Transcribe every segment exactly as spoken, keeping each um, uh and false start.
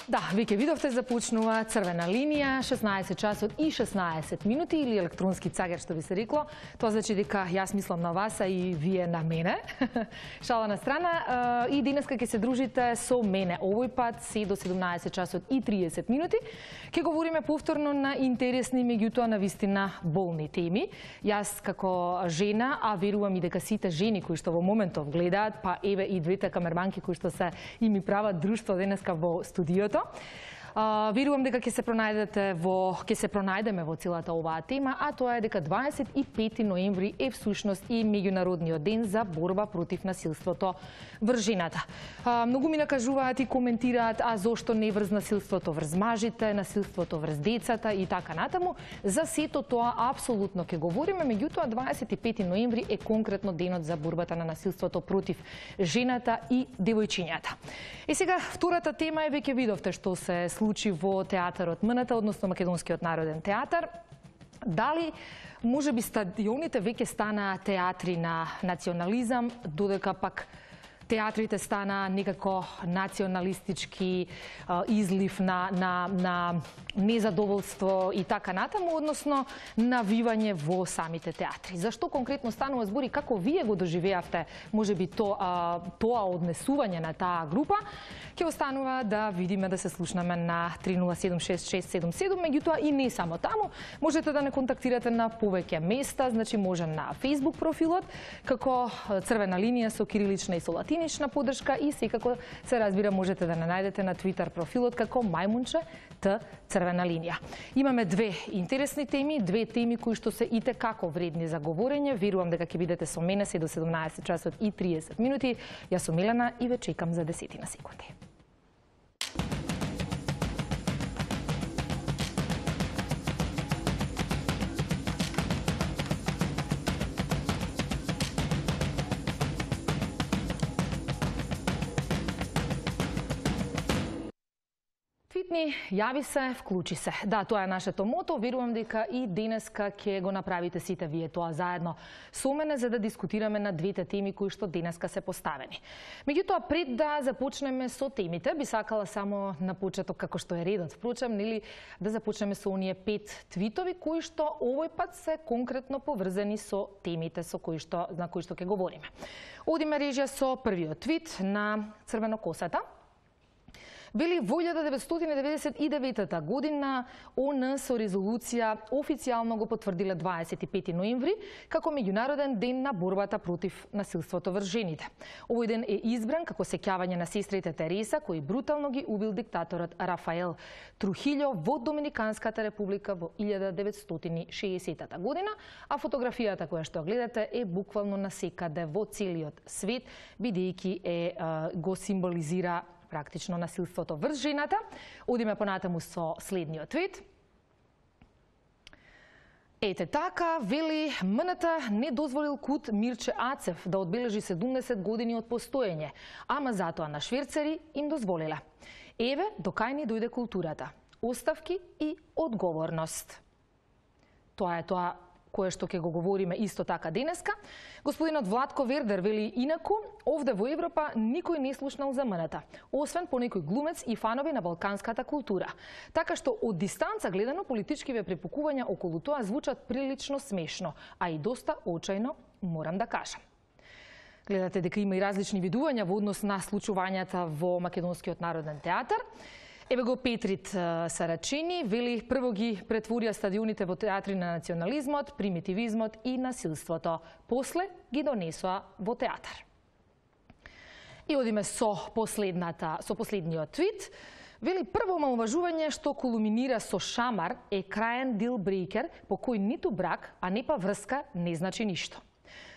Да, веќе видовте, започнува црвена линија, шеснаесет часот и шеснаесет минути или електронски цагер, што би се рекло. Тоа значи дека јас мислам на вас, а и вие на мене. Шала на страна. И денеска ќе се дружите со мене. Овој пат се до седумнаесет часот и триесет минути. Ќе говориме повторно на интересни, меѓутоа на вистина болни теми. Јас како жена, а верувам и дека сите жени кои што во моментов гледаат, па еве и двете камерманки кои што се и ми прават друштво денеска во студиото. Uh, верувам дека ќе се пронајдете во ќе се пронајдеме во целата оваа тема, а тоа е дека дваесет и пети ноември е всушност и меѓународниот ден за борба против насилството врз жената. Uh, многу ми накажуваат и коментираат, а зошто не врз насилството врз мажите, насилството врз децата и така натаму. За сето тоа апсолутно ќе говориме, меѓутоа дваесет и пети ноември е конкретно денот за борбата на насилството против жената и девојчињата. И сега втората тема е веќе видовте што се случи во театарот МНТ, односно Македонскиот народен театар. Дали може би стадионите веќе станаа театри на национализам, додека пак театрите стана некако националистички излив на, на, на незадоволство и така натаму, односно навивање во самите театри. Зашто конкретно станува збор и како вие го доживеавте, може би тоа, тоа однесување на таа група, ќе останува да видиме, да се слушнаме на три нула седум шест шест седум седум, меѓутоа и не само таму, можете да не контактирате на повеќе места, значи може на Facebook профилот, како црвена линија со кирилична и со латинична поддршка и секако се разбира можете да не најдете на Twitter профилот како Мајмунче Т црвена линија. Имаме две интересни теми, две теми кои што се итекако вредни за говорење. Верувам дека ќе бидете со мене се до седумнаесет часот и триесет минути. Јас сум Милена и ве чекам за десетина секунди. Твитни, јави се, вклучи се. Да, тоа е нашето мото. Верувам дека и денеска ќе го направите сите вие тоа заедно со мене за да дискутираме на двете теми кои што денеска се поставени. Меѓутоа, пред да започнеме со темите, би сакала само на почеток, како што е редот, впрочем, нели, да започнеме со оние пет твитови кои што овој пат се конкретно поврзани со темите со кои што на кои што ќе говориме. Одиме режија со првиот твит на Црвенокосата. Вели, во илјада деветстотини деветдесет и девета година ООН со резолуција официјално го потврдиле дваесет и пети ноември како меѓународен ден на борбата против насилството врз жените. Овој ден е избран како сеќавање на сестрите Тереса, кои брутално ги убил диктаторот Рафаел Трухилјо во Доминиканската република во илјада деветстотини шеесета година, а фотографијата која што гледате е буквално насекаде во целиот свет, бидејќи е го символизира практично насилството врз жената. Одиме понатаму со следниот твит. Ете така, вели, МНТ не дозволил КУТ Мирче Ацев да одбележи седумдесет години од постоење, ама затоа на шверцери им дозволиле. Еве, до кај ни дојде културата. Оставки и одговорност. Тоа е тоа кое што ќе го говориме исто така денеска. Господинот Владко Вердер вели инаку, овде во Европа никој не слушнал за МНТ, освен по некој глумец и фанови на балканската култура. Така што од дистанца гледано политичкиве препукувања околу тоа звучат прилично смешно, а и доста очајно, морам да кажам. Гледате дека има и различни видувања во однос на случувањата во Македонскиот народен театар. Еве го Петрит Сарачини, вели, прво ги претворија стадионите во театри на национализмот, примитивизмот и насилството. После ги донесоа во театар. И одиме со последната, со последниот твит. Вели, прво омаловажување што кулминира со шамар е краен дилбрейкер по кој ниту брак, а не па врска не значи ништо.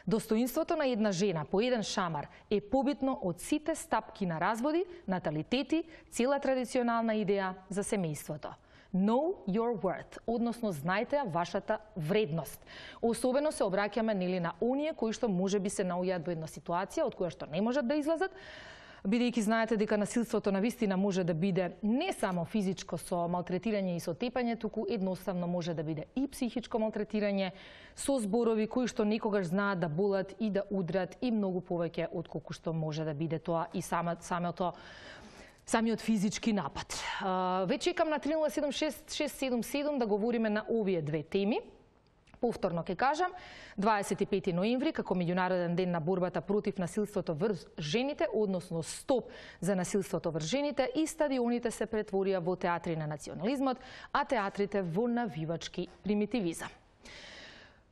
Достоинството на една жена по еден шамар е побитно од сите стапки на разводи, наталитети, цела традиционална идеја за семејството. Know your worth, односно знајте вашата вредност. Особено се обраќаме нели на оние кои што може би се наоѓаат во една ситуација од која што не можат да излезат, бидејќи знаете дека насилството на вистина може да биде не само физичко со малтретирање и со тепање, туку едноставно може да биде и психичко малтретирање со зборови кои што некогаш знаат да болат и да удрат и многу повеќе од колку што може да биде тоа и самото самиот физички напад. Веќе чекам на три нула седум шест шест седум седум да говориме на овие две теми. Повторно ќе кажам, дваесет и пети ноември, како меѓународен ден на борбата против насилството врз жените, односно стоп за насилството врз жените, и стадионите се претворија во театри на национализмот, а театрите во навивачки примитивизам.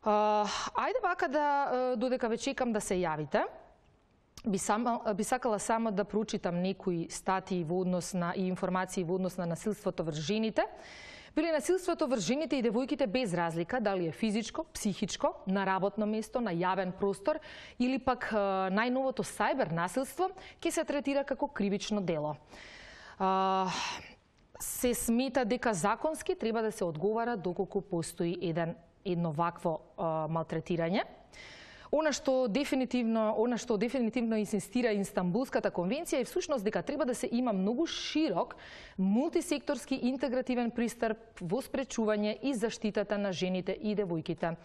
Uh, ајде вака да, додека ве чекам да се јавите, би, сама, би сакала само да прочитам некои статии во однос на и информации во однос на насилството врз жените. Били насилството врз жените и девојките без разлика дали е физичко, психичко, на работно место, на јавен простор или пак најновото сајбер насилство, ќе се третира како кривично дело. Uh, се смета дека законски треба да се одговара доколку постои еден едно вакво а, малтретирање. Она што дефинитивно, она што дефинитивно инсистира Инстанбулската конвенција е всушност дека треба да се има многу широк, мултисекторски интегративен пристап во спречување и заштитата на жените и девојките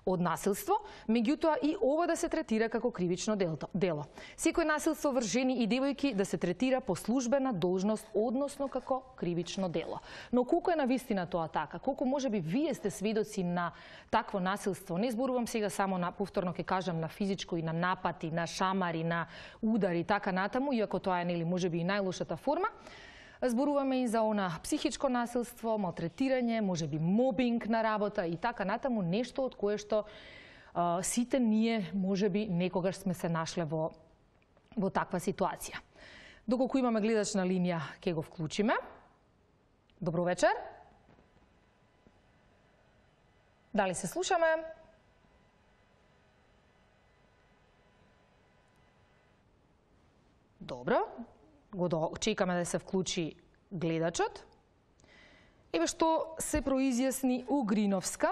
од насилство, меѓутоа и ова да се третира како кривично дело. Секој насилство врз жени и девојки да се третира по службена должност, односно како кривично дело. Но колку е навистина тоа така? Колку можеби вие сте сведоци на такво насилство? Не зборувам сега само на, повторно ќе кажам, на физичко и на напати, на шамари, на удари, така натаму, иако тоа е нели можеби и најлошата форма. Зборуваме и за она психичко насилство, малтретирање, можеби мобинг на работа и така натаму, нешто од кое што а, сите ние можеби некогаш сме се нашле во, во таква ситуација. Доколку имаме гледач на линија, ќе го вклучиме. Добро вечер. Дали се слушаме? Добро, го чекаме да се вклучи гледачот. Еве што се произјасни Угриновска.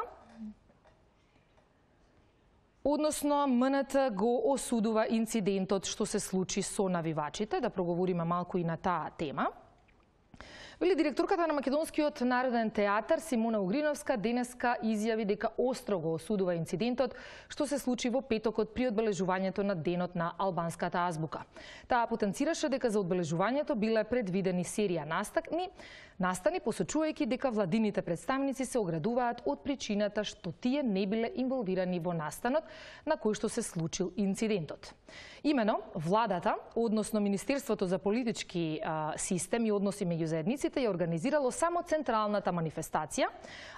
Односно, М Н Т го осудува инцидентот што се случи со навивачите, да проговориме малку и на таа тема. Вели директорката на Македонскиот народен театар Симона Угриновска денеска изјави дека остро го осудува инцидентот што се случи во петокот при одбележувањето на денот на албанската азбука. Таа потенцираше дека за одбележувањето биле предвидени серија настани, настани посочувајќи дека владините представници се оградуваат од причината што тие не биле инволвирани во настанот на кој што се случил инцидентот. Имено, владата, односно Министерството за политички а, систем и односи меѓу заедниците, ја организирало само централната манифестација,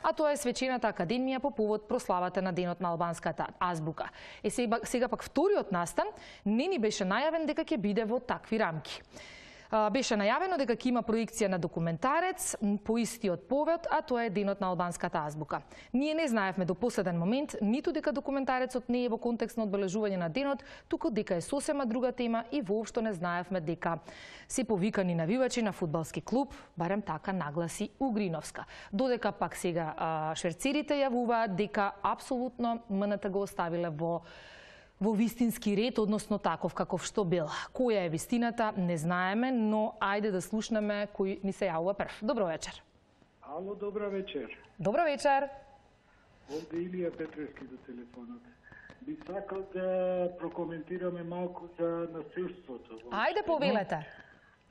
а тоа е свечената академија по повод прославата на денот на албанската азбука. Е сега, сега пак вториот настан не ни беше најавен дека ќе биде во такви рамки. Беше најавено дека ќе има проекција на документарец по истиот повод, а тоа е денот на албанската азбука. Ние не знаевме до последен момент ниту дека документарецот не е во контекст на одбележување на денот, туку дека е сосема друга тема и воопшто не знаевме дека се повикани навивачи на фудбалски клуб, барем така нагласи Угриновска. Додека пак сега шверцерите јавуваат дека апсолутно М Н Т го оставиле во во вистински ред, односно таков каков што бил. Која е вистината, не знаеме, но ајде да слушнеме кој ни се јавува прв. Добро вечер. Ало, добро вечер. Добро вечер. Овде Илија Петревски до телефонот. Би сакал да прокоментираме малку за насилството. Ајде повелете.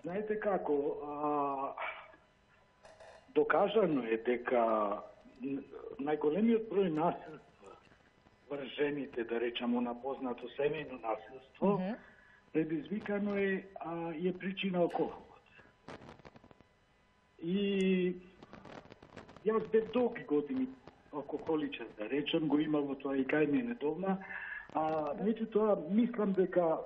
Знаете како, а, докажано е дека најголемиот број насилство врз жените, да речеме на познато семејно насилство, mm -hmm. предизвикано е, а, е причина алкохолот. И јас бев долги години алкохоличар, да речем, го имало тоа и кај мене дома, а меѓутоа мислам дека а,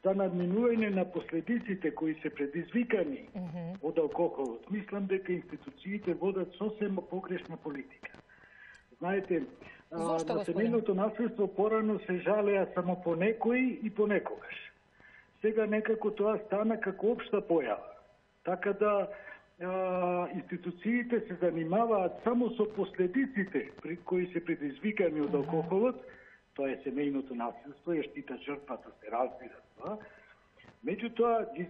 за надминување на последиците кои се предизвикани mm -hmm. од алкохолот, мислам дека институциите водат сосема погрешна политика. Знаете, на семејното насилство порано се жалеа само по некои и по некогаш. Сега некако тоа стана како општа појава. Така да а, институциите се занимаваат само со последиците при кои се предизвикани од алкохолот, тоа е семејното насилство, ја штита жртвата, се разбира тоа. Меѓутоа ги,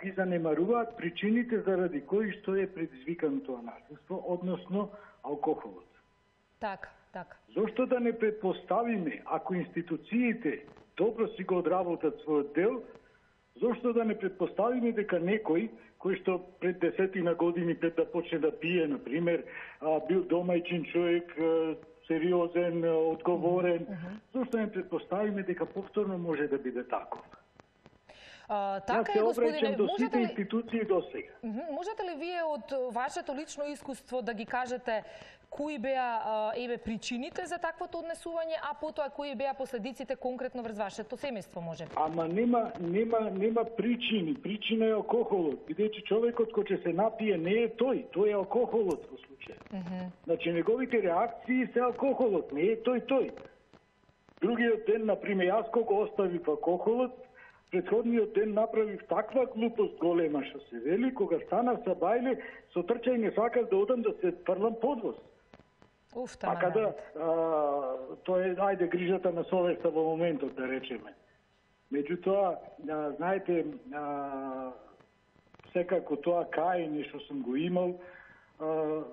ги занемаруваат причините заради кои што е предизвикано тоа насилство, односно алкохолот. Така, така. Зошто да не предпоставиме, ако институциите добро си го одработат својот дел, Зошто да не предпоставиме дека некој кој што пред десетина години пред да почне да пие, на пример, бил домајчин човек, сериозен, одговорен, mm-hmm. зошто не предпоставиме дека повторно може да биде таков? А, така Јас се е, обраќам до сите ли... институции до сега. Mm-hmm. Можете ли вие од вашето лично искуство да ги кажете кои беа еве причините за таквото однесување, а потоа кои беа последиците конкретно врз вашето семејство, може? Ама нема нема нема причини. Причина е алкохолот. Бидејќи човекот кој ќе се напие не е тој, тој е алкохолот во случај. Mm -hmm. Значи неговите реакции се алкохолот, не е тој тој. Другиот ден, на пример, јас кога оставив алкохолот, претходниот ден направив таква глупост голема што се вели, кога станав са бајле, со трчање сакав да одам да се фрлам под воз. Уф, а када тоа е, ајде, грижата на совеста во моментот, да речеме. Меѓутоа, а, знаете, а, секако тоа каење што сум го имал, а,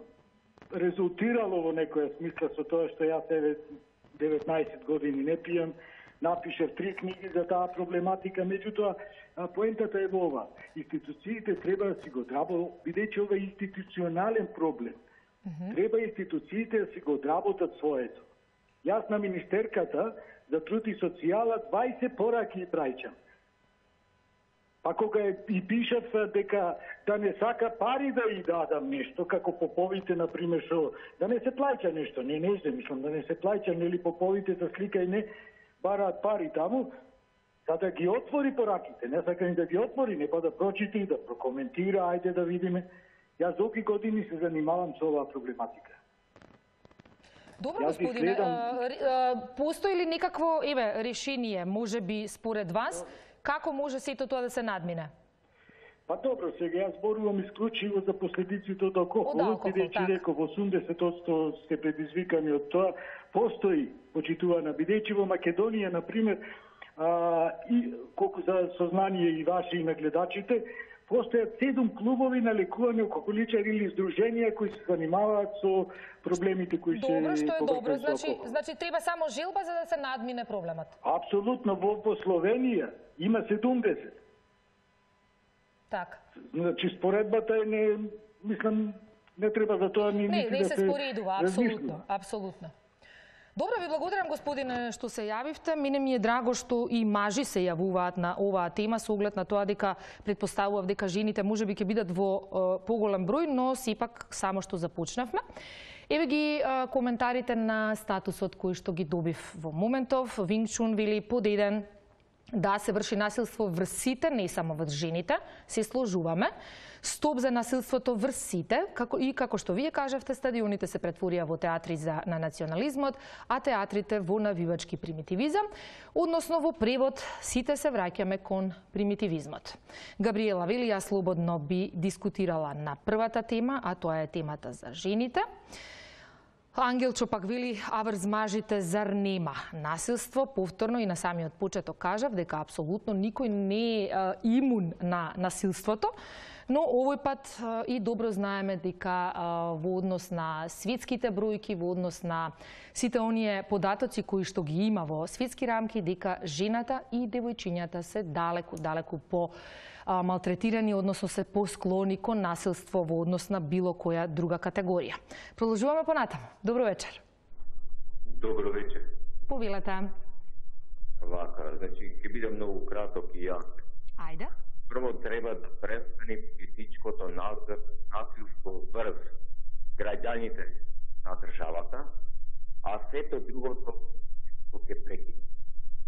резултирало во некоја смисла со тоа што јас еве деветнаесет години не пијам, напишав три книги за таа проблематика, меѓутоа поентата е во ова. Институциите треба да си го одработат, бидејќи ова е институционален проблем. Mm-hmm. Треба институциите да си го одработат своето. Јас на министерката за труд и социјала дваесет пораки и праќам. Па кога и пишав дека да не сака пари да и дадам нешто, како поповите, например, што да не се плаќа нешто, не, не знам, мислам, да не се плаќа, нели поповите за слика и не бараат пари таму, за да ги отвори пораките, не сака ни да ги отвори, не па да прочита и да прокоментира, ајде да видиме. Јас долги години се занимавам со оваа проблематика. Добро, господине, гледам... постои ли некакво, еве, решение, може би според вас, како може сето тоа да се надмине? Па добро, сега јас зборувам исклучиво за последиците од алкохолот, бидејќи реков осумдесет одсто сте предизвикани од тоа. Постои почитувана, бидејќи во Македонија, на пример, а, и колку за сознание и ваши и на гледачите, постојат седум клубови на лекување алкохоличари или здруженија кои се занимаваат со проблемите кои се Добро, што е добро, значи, значи треба само желба за да се надмине проблемот. Апсолутно, во, во Словенија има седумдесет. Так. Значи споредбата е не, мислам, не треба за тоа ни не, не да се споредува, апсолутно, апсолутно. Добро, ви благодарам, господине, што се јавивте. Мене ми е драго што и мажи се јавуваат на оваа тема со оглед на тоа дека претпоставував дека жените можеби ќе бидат во е, поголем број, но сепак само што започнавме. Еве ги е, коментарите на статусот кој што ги добив во моментов. Вингчун вели под еден да се врши насилство врз сите, не само врз жените, се сложуваме. Стоп за насилството врз сите, како и како што вие кажавте, стадионите се претворија во театри за на национализмот, а театрите во навивачки примитивизам, односно во превод сите се враќаме кон примитивизмот. Габриела вели, ја слободно би дискутирала на првата тема, а тоа е темата за жените. Ангелчо пак вели, а врз мажите зар нема насилство? Повторно и на самиот почеток кажав дека апсолутно никој не е имун на насилството, но овој пат и добро знаеме дека во однос на светските бројки, во однос на сите оние податоци кои што ги има во светски рамки, дека жената и девојчињата се далеку, далеку по малтретирани, односно се посклони кон насилство во однос на било која друга категорија. Продолжуваме понатаму. Добро вечер. Добро вечер. Повелете. Вака, значи, ќе бидам многу краток и јак. Ајде. Прво треба да престане политичкото насилство врз граѓаните на државата, а сето другото ќе прекине.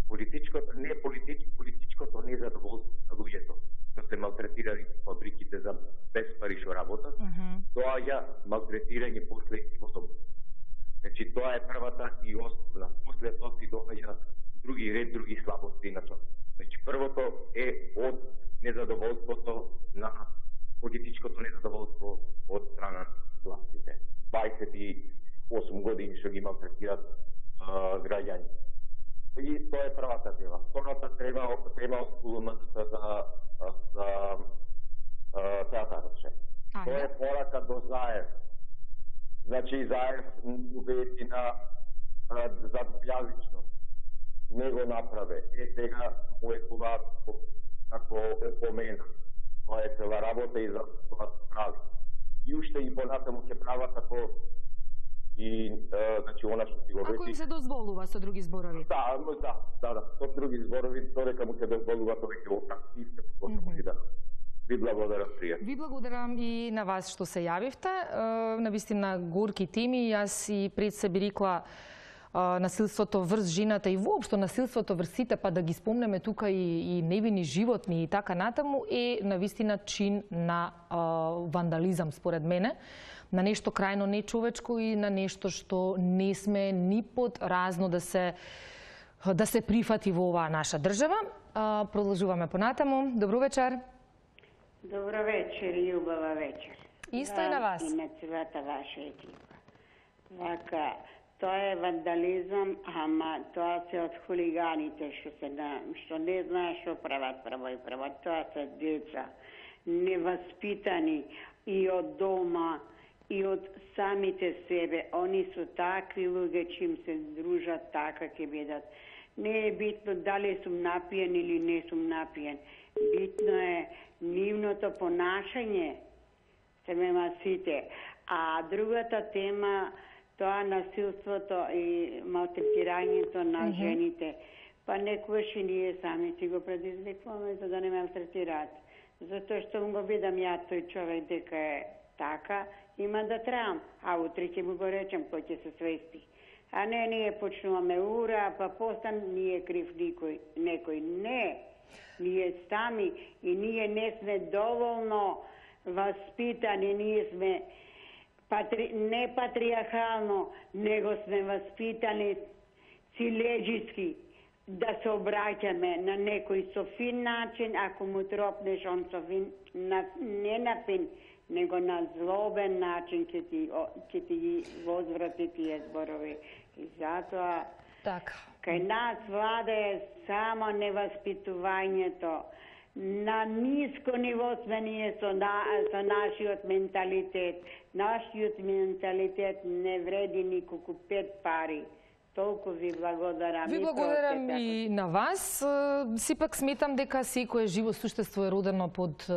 Политичкото не политич, политичкото незадоволство на луѓето што се малтретирани во фабриките за без пари што работат, mm -hmm. доаѓа малтретирање после и во дом. Значи тоа е првата и основна. После тоа си доаѓа други ред, други слабости на тоа. Значи првото е од незадоволството на политичкото незадоволство од страна на властите. дваесет и осум години што ги малтретират граѓани. И тоа е првата тема. Втората тема тема од за за театарот. Тоа е порака до Заев. Значи Заев убеди на за двојазичност. Не го направе. Е сега мојкова како опомена. Тоа е цела работа и за тоа се прави. И уште и понатаму ќе прават ако и е, значи она што си го Ако им се дозволува со други зборови. Да, да, да, да, со други зборови додека му се дозволува тоа ќе го прави исто како mm -hmm. да. Ви благодарам, пријатно. Ви благодарам и на вас што се јавивте. Е, навистина горки теми. Јас и пред се би рекла насилството врз жената и воопшто насилството врз сите, па да ги спомнеме тука и, и невини животни и така натаму, е навистина чин на а, вандализам според мене, на нешто крајно нечовечко и на нешто што не сме ни под разно да се да се прифати во оваа наша држава. А, продолжуваме понатаму. Добро вечер. Добро вечер и убава вечер. Исто и на вас. И на целата ваша екипа. Вака, тоа е вандализам, ама тоа се од хулиганите што се на, што не знаеш што прават право и право. Тоа се деца неваспитани и од дома и од самите себе. Они се такви луѓе, чим се дружат, така ќе бидат. Не е битно дали сум напиен или не сум напиен. Битно е нивното понашање, се мема сите. А другата тема, тоа насилството и малтретирањето на mm -hmm. жените. Па некојаш и ние сами си го предизвикваме за да не малтретираат. Затоа што го видам ја тој човек дека е така, има да трам. А утре ќе му го речем кој ќе се свести. А не, ние почнуваме ура, па постан ние крив никој, некој. Не, ние сами и ние не сме доволно васпитани, ние сме Патри... не патриархално, него сме васпитани силеджиски да се обраќаме на некој со фин начин, ако му тропнеш он со фин, на... не на фин, него на злобен начин ќе ти, ќе ти ги возврати тие зборови. И затоа така. Кај нас влада е само неваспитувањето. На ниско ниво сме ние со, на, со нашиот менталитет. Нашиот менталитет не вреди николку пет пари. Толку ви благодарам. Ви благодарам и, и на вас. Сепак сметам дека секое живо суштество е родено под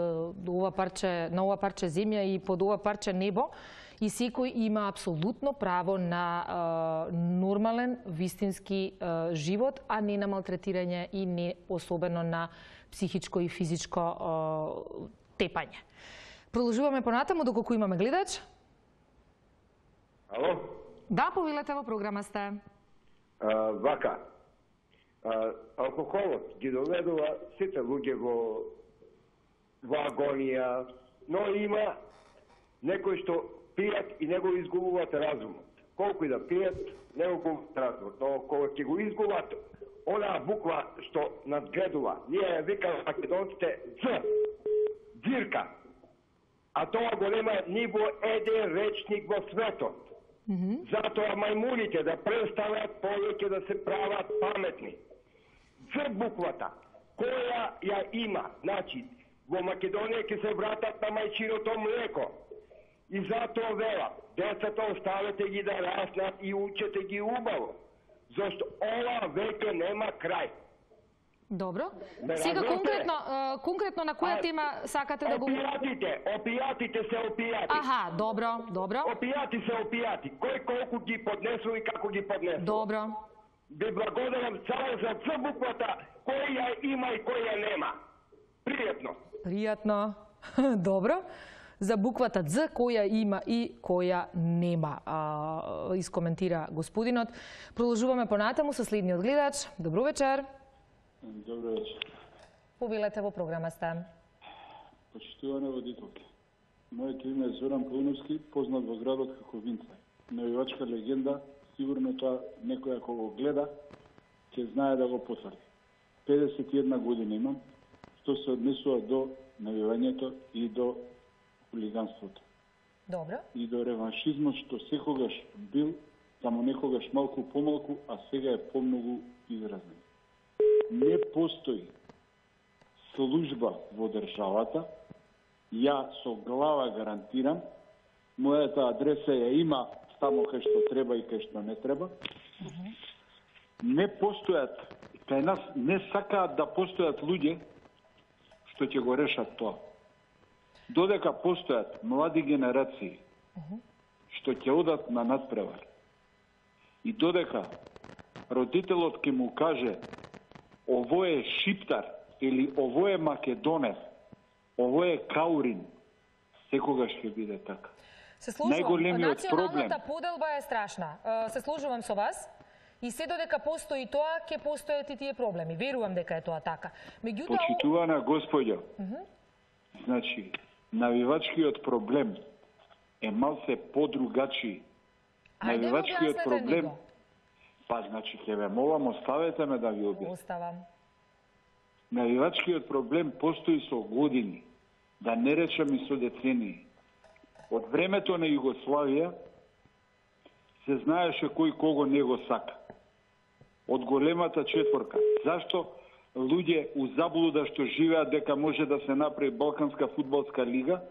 ова парче, на ова парче земја и под ова парче небо. И секој има апсолутно право на а, нормален, вистински а, живот, а не на малтретирање и не особено на психичко и физичко а, тепање. Продолжуваме понатаму доколку имаме гледач. Ало? Да, повелете, во програма сте. А, вака, а, алкохолот ги доведува сите луѓе во, во агонија, но има некој што пијат и него изгубуваат разумот. Колку и да пијат, него губуваат разумот. Но кога ќе го изгубат, онаа буква што надградува, ние ја викаме македонците Ц, дзирка. А тоа го нема ни во еден речник во светот. Mm -hmm. Затоа мајмуните да престанат повеќе да се прават паметни. Ц буквата, која ја има, значи, во Македонија ќе се вратат на мајчиното млеко. И затоа вела, децата оставете ги да раснат и учете ги убаво. Зашто ова веќе нема крај. Добро. Сега конкретно, конкретно на која а, тема сакате да го... Опијатите, опијатите се опијати. Аха, добро, добро. Опијати се опијати. Кој колку ги поднесува и како ги поднесува. Добро. Ви благодарам само за Ц буквата, кој ја има и кој ја нема. Пријатно. Пријатно. Добро. За буквата Дз, која има и која нема, а, искоментира господинот. Продолжуваме понатаму со следниот гледач. Добро вечер. Добро вечер. Повелете, во програма сте. Почитуване водителки. Моето име е Зоран Пауновски, познат во градот како Винца. Навивачка легенда, сигурно тоа некој ако го гледа, ќе знае да го потврди. педесет и една година имам, што се однесува до навивањето и до хулиганството. Добро. И до реваншизмот што секогаш бил, само некогаш малку помалку, а сега е помногу изразен. Не постои служба во државата, ја со глава гарантирам, мојата адреса ја има тамо кај што треба и кај што не треба. Uh -huh. Не постојат, кај нас не сакаат да постојат луѓе што ќе го решат тоа. Додека постојат млади генерации што ќе одат на надпревар и додека родителот ќе му каже овој е шиптар или овој е македонец, овој е каурин, секогаш ќе биде така. Се служувам. Најголемиот проблем. Националната поделба е страшна. Се служувам со вас. И се додека постои тоа, ќе постојат и тие проблеми. Верувам дека е тоа така. Меѓутоа, почитувана господја, uh -huh. значи, навивачкиот проблем е малце подругачи. Навивачкиот проблем, па значи ќе ве молам, оставете ме да ви објаснам. Оставам. Навивачкиот проблем постои со години, да не речам и со децении. Од времето на Југославија се знаеше кој кого не го сака. Од големата четворка. Зашто луѓе у заблуда што живеат дека може да се направи Балканска фудбалска лига,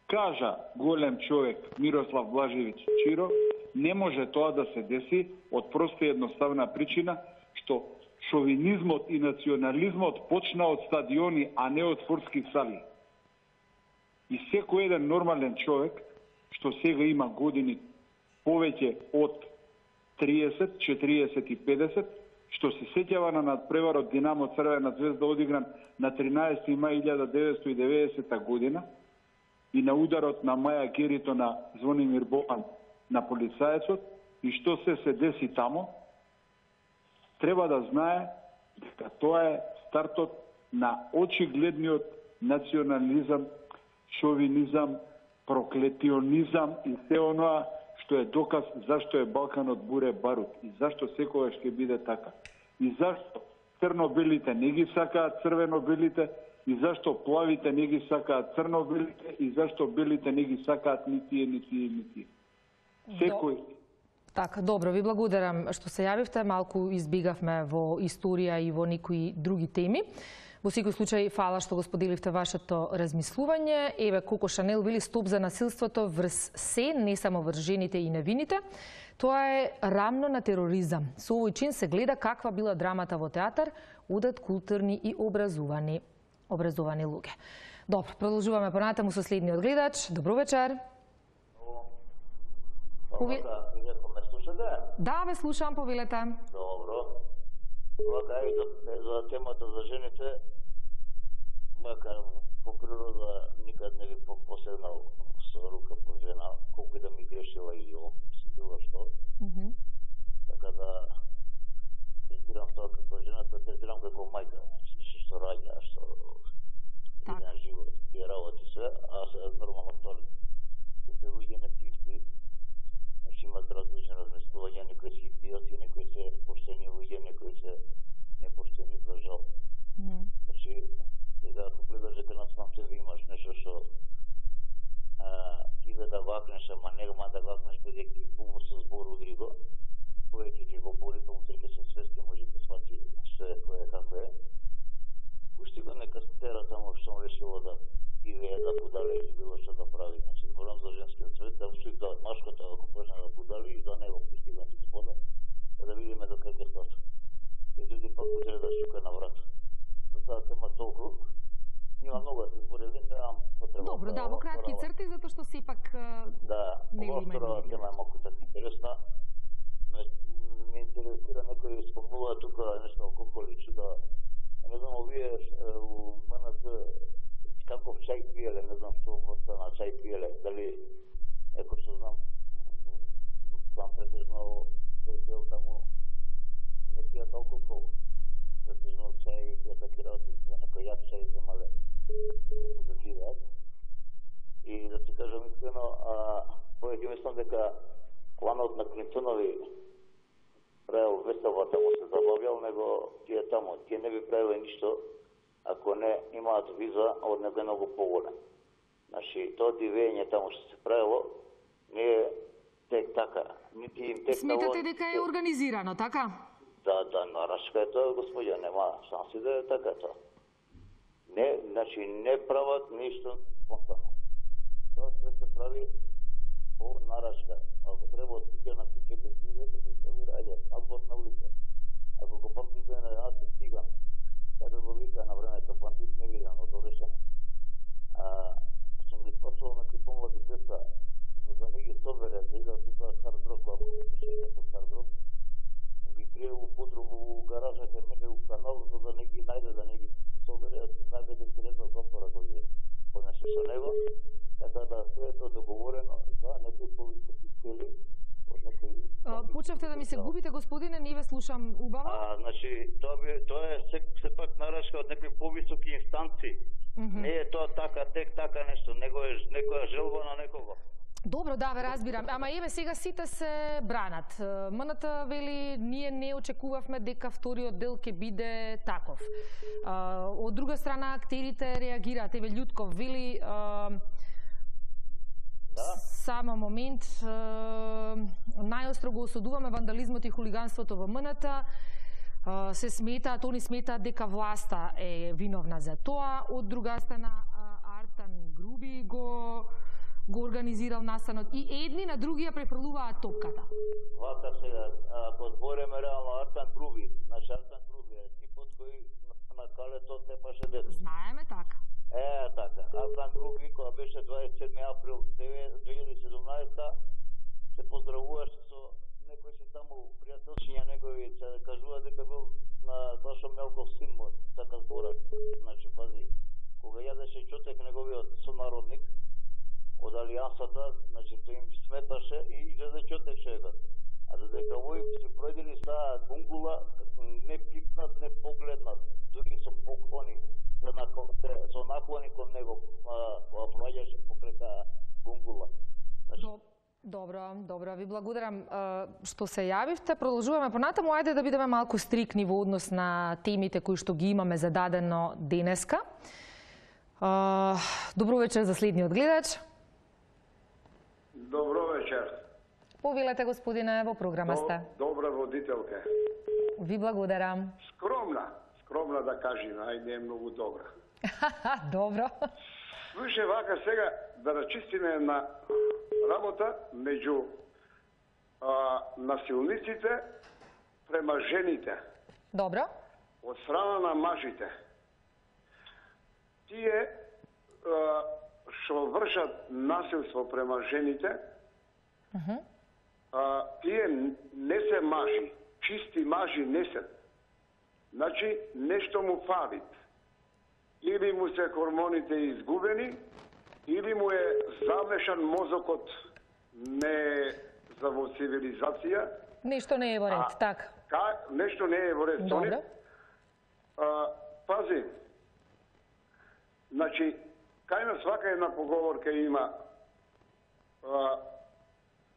кажа голем човек Мирослав Блажевиќ Чиро, не може тоа да се деси од проста и едноставна причина што шовинизмот и национализмот почна од стадиони, а не од спортски сали. И секој еден нормален човек што сега има години повеќе од триесет, четириесет и педесет, што се сеќава на надпреварот Динамо Црвена звезда одигран на тринаесети мај илјада деветстотини и деветдесета година и на ударот на Маја Герито на Звонимир Боган на полицаецот и што се се деси тамо, треба да знае дека тоа е стартот на очигледниот национализам, шовинизам, проклетионизам и се оноа што е доказ зашто е Балканот буре барут и зашто секогаш ќе биде така. И зашто црно-белите не ги сакаат црвено-белите и зашто плавите не ги сакаат црно-белите и зашто белите не ги сакаат ни тие, ни тие, ни тие. Секој... Така, добро, ви благодарам што се јавивте. Малку избигавме во историја и во некои други теми. Во секој случај, фала што го споделивте вашето размислување. Еве, Коко Шанел вели стоп за насилството врз се, не само врз жените и невините. Тоа е рамно на тероризам. Со овој чин се гледа каква била драмата во театар, одат културни и образувани, образовани луѓе. Добро, продолжуваме понатаму со следниот гледач. Добро вечер. Пове... Да, ве слушам, повелете. Добро. Вака и за, за темата за жените, макар по природа никад не би посегнал со рука по жена, колку и да ми грешила и си било што. Mm -hmm. Така да третирам тоа како жената, третирам како мајка, што раѓа, што идеја живот, тие работи све, а се нормално тоа. Тие луѓе не тисти, значи имат различни размислувања, некои се идиоти, некои се поштени луѓе, некои се непоштени за жал. Mm. Значи, сега ако гледаш дека на сам себе имаш нешто што иде да вакнеш, ама нема да вакнеш бидејќи пуму се збор удри го, повеќе ќе го боли, па утре ќе се свести, може да свати што е, кој е, како е. Пушти го нека се тера тамо што му решило да живее, да будале или било што да прави. Значи, зборам за женскиот свет, да ушти да машката ако почне да будали и да него пусти го господа, да видиме до кај ќе стане. И луѓе пак утре да шука на врата. За таа тема толку. Има многу да се зборили, немам потреба. Добро, да, во кратки црти, затоа што сепак да, ова втора тема е малку така интересна. Ме интересира некој спомнува тука нешто колку личи да не знам овие у ем ен це каков чај пиеле, не знам што врста на чај пиеле, дали еко што знам сам претежно тој дел таму не пија толку претежно чај и таки работи за некој јак чај земале да пијат. И да ти кажам искрено, повеќе мислам дека кланот на Клинтонови правил весела таму се забавјал, него тие таму, тие не би правиле ништо ако не имаат виза од некој многу поголем. Значи, тоа дивење таму што се правило не е тек така. Нити им тек Сметате дека е организирано, така? Да, да, нарашка е тоа, господја, нема шанси да е така тоа. Не, значи, не прават ништо спонтано. Тоа се се прави по нарашка. Ако треба од куќа на куќа си века се стави раѓа, абот на улица. Ако го памтите на една се стига, kada go vika na vreme, to pamtit ne vidim, od со него, така да се е тоа договорено за некои повисоки цели. Почнавте да ми се губите, господине, не ве слушам убаво. А, значи, тоа, би, тоа е се, сепак нарашка од некои повисоки инстанции. Mm -hmm. Не е тоа така, тек така нешто, него е некоја желба на некого. Добро, да, ве разбирам. Ама еве сега сите се бранат. МНТ вели, ние не очекувавме дека вториот дел ќе биде таков. А, од друга страна, актерите реагираат. Еве Љутков вели, а, да. Само момент, најостро го осудуваме вандализмот и хулиганството во МНТ. Се сметаат, они сметаат дека власта е виновна за тоа. Од друга страна, Артан Груби го го организирал настанот и едни на другија префрлуваат топката. Вака сега, ако збориме реално Артан Груби, значи Артан Груби е типот кој на калето тепаше дете. Знаеме така. Е, така. Артан Груби, кога беше дваесет и седми април две илјади и седумнаесета, се поздравуваше со некои си таму пријателчиња негови, се кажува дека бил на Сашо Мелков син му, така зборат. Значи, пази, кога јадеше чотек неговиот сонародник од Алијансата, значи тој им сметаше и излезе чотек човекот. А додека овој се пројдени са бунгула, не пипнат, не погледнат, дури со поклони, со наклони кон него, кога проаѓаше покрај таа бунгула. Значи, Добро, добро, ви благодарам што се јавивте. Продолжуваме понатаму, ајде да бидеме малку стрикни во однос на темите кои што ги имаме зададено денеска. Добро вечер за следниот гледач. Добро вечер. Повелете, господине, во програма сте. Добра водителка. Ви благодарам. Скромна, скромна да кажем, ај не е многу добра. Добро. Слушај, вака сега да рачистиме една работа меѓу а, насилниците према жените. Добро. Од страна на мажите. Тие а, што вршат насилство према жените, uh -huh. а, тие не се мажи, чисти мажи не се. Значи, нешто му фалит. Или му се хормоните изгубени, или му е замешан мозокот не за во цивилизација. Нешто не е во ред, така. Ка, нешто не е во ред. Добро. А, пази, значи, кај на свака една поговорка има а,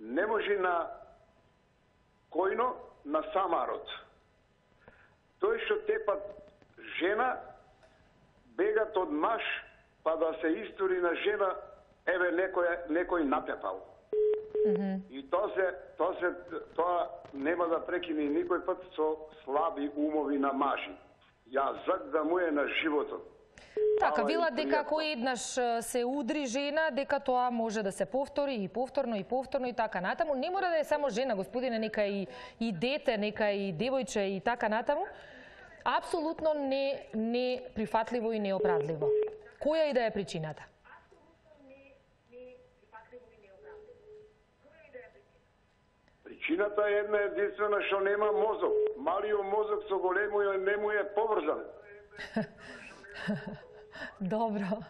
не може на којно, на самарот. Тој што тепат жена, бегат од маж, па да се истори на жена, еве некој, некој натепал. Mm -hmm. И тоа се, тоа се, тоа нема да прекине никој пат со слаби умови на мажи. Јазак да му е на животот. Така, вела дека ако еднаш се удри жена, дека тоа може да се повтори и повторно и повторно и така натаму. Не мора да е само жена, господине, нека и, и дете, нека и девојче и така натаму. Апсолутно не, не прифатливо и неоправдливо. Која и да е причината? Причината е една единствена што нема мозок. Малиот мозок со големиот не му е поврзан. Добро.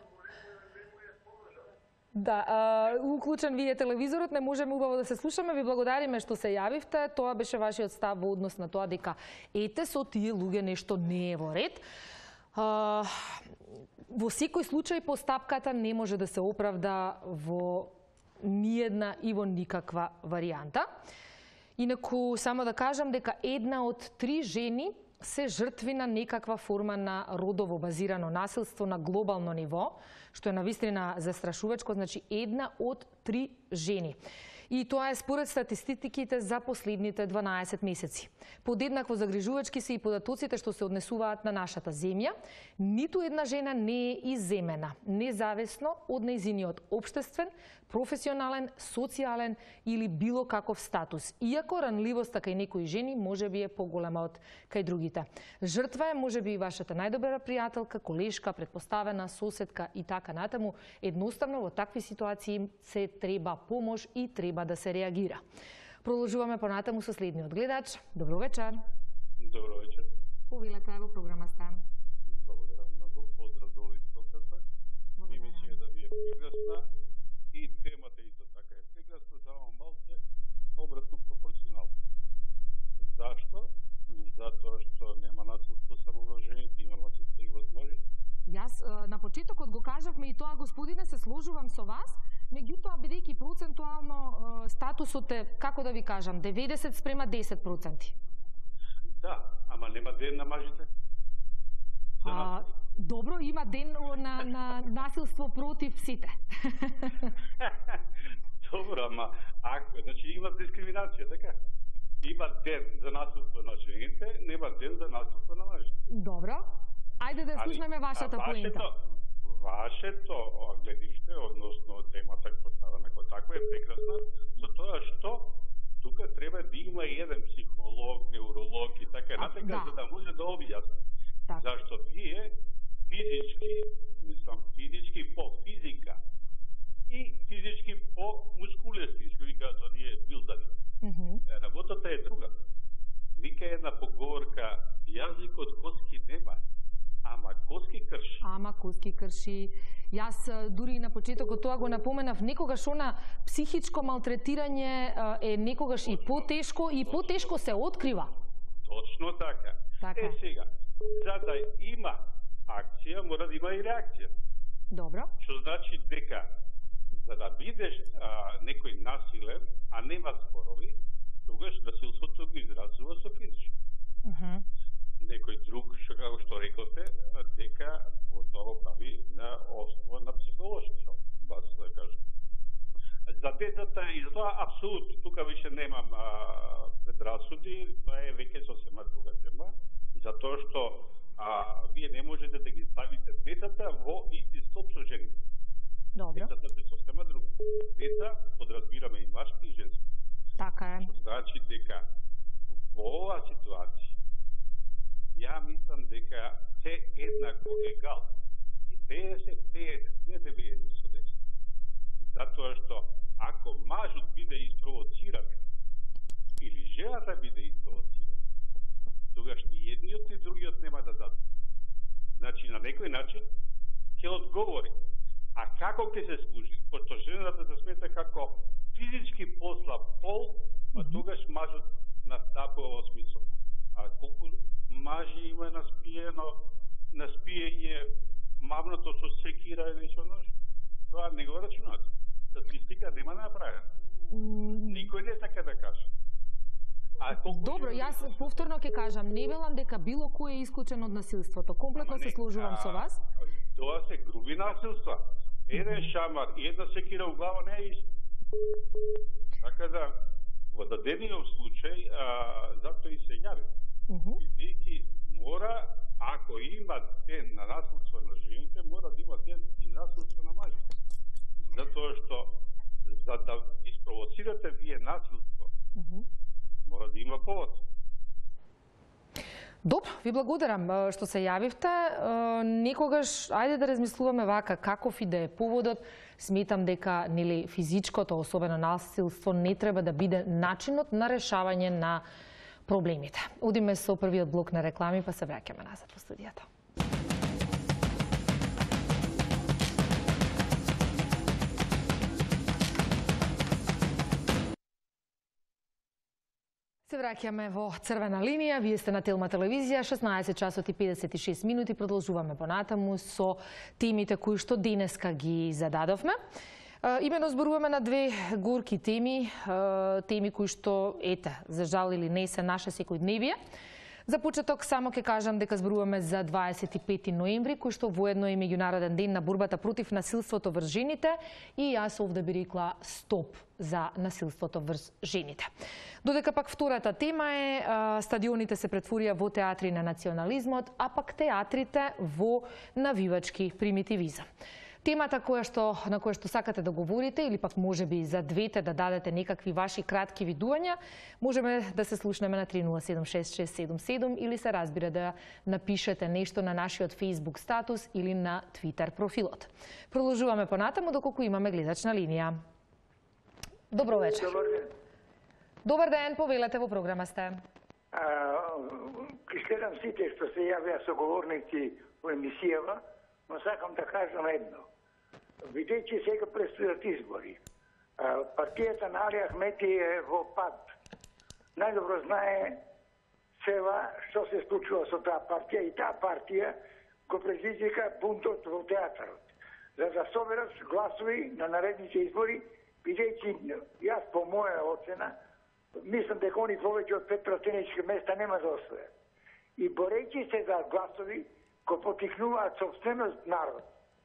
Да, а, уклучен ви е телевизорот, не можеме убаво да се слушаме. Ви благодариме што се јавивте. Тоа беше вашиот став во однос на тоа дека ете со тие луѓе нешто не е во ред. А, во секој случај постапката не може да се оправда во ниедна и во никаква варијанта. Инаку само да кажам дека една од три жени се жртви на некаква форма на родово базирано насилство на глобално ниво, што е навистина застрашувачко, значи една од три жени. И тоа е според статистиките за последните дванаесет месеци. Подеднакво загрижувачки се и податоците што се однесуваат на нашата земја. Ниту една жена не е изземена, независно од нејзиниот општествен, професионален, социјален или било каков статус. Иако ранливоста кај некои жени може би е поголема од кај другите. Жртва е може би и вашата најдобра пријателка, колешка, предпоставена, соседка и така натаму. Едноставно во такви ситуации се треба помош и треба да се реагира. Продолжуваме понатаму со следниот гледач. Добро вечер. Добро вечер. Повелете во програма сте. Благодарам многу. Поздрав до овој стоката. И мислиме да ви е прекрасна и темата исто така е прекрасна, само малце обратно пропорционално. Зашто? Затоа што нема насилство само на жените, има насилство и од мажите. Јас на почетокот го кажавме и тоа, господине, се сложувам со вас, меѓутоа бидејќи процентуално статусот е, како да ви кажам, деветдесет спрема десет проценти. Да, ама нема ден на мажите. А, добро, има ден на, на насилство против сите. Добро, ама ако, значи има дискриминација, така? Има ден за насилство на жените, нема ден за насилство на мажите. Добро. Ајде да слушнеме вашата поинта. Вашето гледиште, односно темата поставена како таква е прекрасна, за тоа што тука треба да има еден психолог, невролог и така натака, да. За да може да објасни. Зашто вие физички, мислам физички по физика и физички по мускулести, што ви кажат оние билдани. Mm -hmm. Работата е друга. Вика една поговорка, јазикот коски нема, ама коски крши. Ама коски крши. Јас дури на почетокот тоа го напоменав, некогаш она психичко малтретирање е некогаш и потешко и потешко се открива. Точно така. така. Е сега, за да има акција, мора да има и реакција. Добро. Што значи дека за да бидеш а, некој насилен, а нема спорови, тогаш насилството го изразува со физичко. Uh -huh. Некој друг, што како што рековте, дека тоа го прави на основа на психолошки, бас да кажам. За децата и за тоа апсолутно, тука више немам а, предрасуди, тоа е веќе сосема друга тема, затоа што а, вие не можете да ги ставите децата во исти стоп со жените. Добро. Децата се сосема друга. Деца подразбираме и машки и женски. Така е. Што значи дека во оваа ситуација ја мислам дека се еднако егал. И педесет педесет, не деветдесет со десет. Затоа што ако мажот биде испровоциран или жената биде испровоцирана, тогаш ни едниот и другиот нема да дадат. Значи на некој начин ќе одговори. А како ќе се служи? Пошто жената се смета како физички послаб пол, а тогаш мажот настапува во смисол. А колку мажи има наспиено, наспиење мамното со секира или со нож? Тоа не го рачунате. Статистика нема направена. Никој не така да каже. А добро, јас повторно ќе кажам, не велам дека било кој е исклучен од насилството. Комплетно се сложувам со вас. Тоа се груби насилства. Еден шамар и една секира у глава не е исто. Така да, во дадениот случај, а, затоа и се јави. Бидејќи мора, ако има ден на насилство на жените, мора да има ден и насилство на мажите. Затоа што, за да испровоцирате вие насилство, мора да има повод. Добро, ви благодарам што се јавивте. Некогаш, ајде да размислуваме вака, каков и да е поводот. Сметам дека нели физичкото, особено насилство, не треба да биде начинот на решавање на проблемите. Одиме со првиот блок на реклами, па се враќаме назад во студијата. Се враќаме во црвена линија. Вие сте на Телма телевизија, шеснаесет часот и педесет и шест минути. Продолжуваме понатаму со темите кои што денеска ги зададовме. Имено зборуваме на две горки теми, теми кои што, ете, за жал или не, се наше секојдневие. За почеток само ќе кажам дека зборуваме за дваесет и пети ноември, кој што воедно е меѓународен ден на борбата против насилството врз жените, и јас овде би рекла стоп за насилството врз жените. Додека пак втората тема е стадионите се претворија во театри на национализмот, а пак театрите во навивачки примитивизам. Темата која што, на која што сакате да говорите, или пак може би за двете да дадете некакви ваши кратки видувања, можеме да се слушнеме на три нула седум шест шест седум седум или се разбира да напишете нешто на нашиот Facebook статус или на Twitter профилот. Продолжуваме понатаму доколку имаме гледачна линија. Добро вечер. Добар ден. Добар ден, повелете, во програма сте. Ки следам сите што се јавија соговорници во емисијава, но сакам да кажам едно. Видејќи сега предстојат избори. Партијата на Али Ахмети е во пад. Најдобро знае села што се случува со таа партија и таа партија го предизвика бунтот во театарот. За да соберат гласови на наредните избори, бидејќи јас по моја оцена, мислам дека они повеќе од пет пратенички места нема да освојат. И борејќи се за гласови, го потикнуваат собственост народ.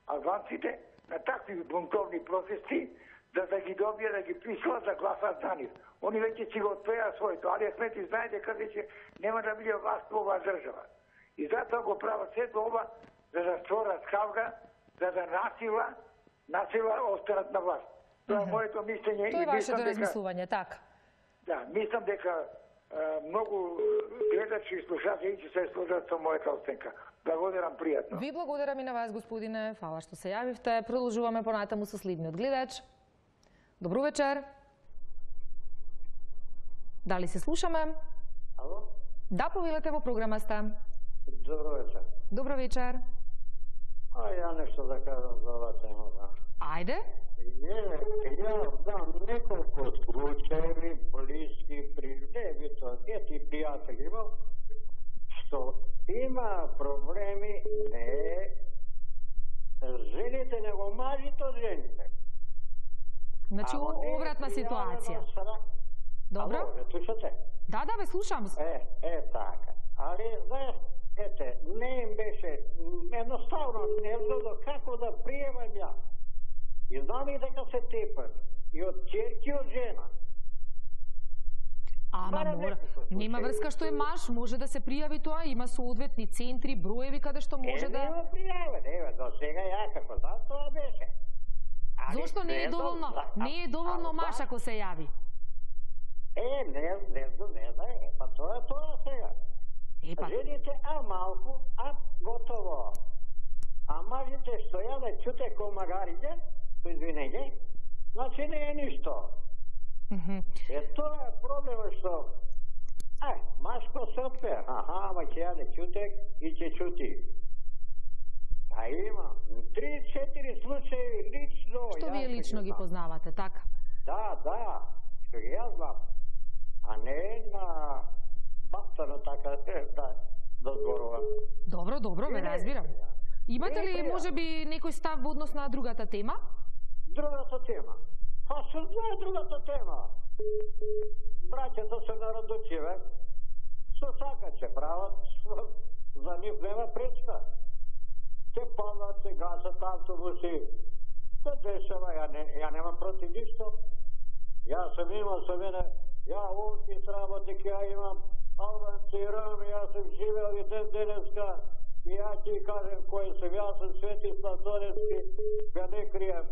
Албанците на такви бунтовни протести, да да ги добија, да ги присилат да гласат за нив. Они веќе си го отпеа своето. Али Ахмети знае дека веќе нема да биде власт во оваа држава. И затоа го прават сето ова, за да створат хавга, за да насила, насила останат на власт. Тоа е моето мислење. Тоа е вашето размислување, така? Да, мислам дека многу гледачи и слушатели ќе се сложат со мојата оценка. Благодарам, пријатно. Ви благодарам и на вас, господине. Фала што се јавивте. Продолжуваме понатаму со следниот гледач. Добро вечер. Дали се слушаме? Ало? Да, повелете, во програма сте. Добро вечер. Добро вечер. А ја нешто да кажам за оваа тема. Ајде. Е, ја знам неколку случаеви, блиски, приживето, дети пријатели имам, што има проблеми не жените, него мажите од жените. Значи, обратна ситуација. Добро? Ало, слушате? Да, да, ве слушам. Е, е, така. Али, знаеш, ете, не им беше, едноставно не знам како да приемам ја. И знам и дека се тепат. И од ќерки, од жена. Ама мора, нема врска што е маж, може да се пријави тоа, има соодветни центри, броеви каде што може да... Е, нема пријава, нема, до сега ја како да, тоа беше. Зошто не е доволно, не е доволно маж ако се јави? Е, не, не знам, не знам, е, па тоа е тоа сега. Епа. Жените, а малку, а готово. А мажите што ја да чуте комагариđe, со извинење, значи не е ништо. Mm-hmm. Е, тоа е проблема што, е, машко се отпе, аха, ама ќе ја да чуте и ќе чути. А има три-четири случаи лично. Што вие лично ги познавате, така? Да, да, што ги ја знам. А не на бактано така да, да зборувам. Добро, добро, ме разбирам. Имате ли, може би, некој став во однос на другата тема? Другата тема? Па се знае другата тема. Браќата се народочиве, што сакат ќе прават, за нив нема пречка. Те палат, се гасат автобуси, се дешава, ја, не, ја нема против ништо. Ја сам имал со мене, ја овде сработи, ја имам албанци и роми, ја сам живеал и ден денеска, и ја ќе кажем кој сум, ја сум Светислав Донецки, ја не криjem.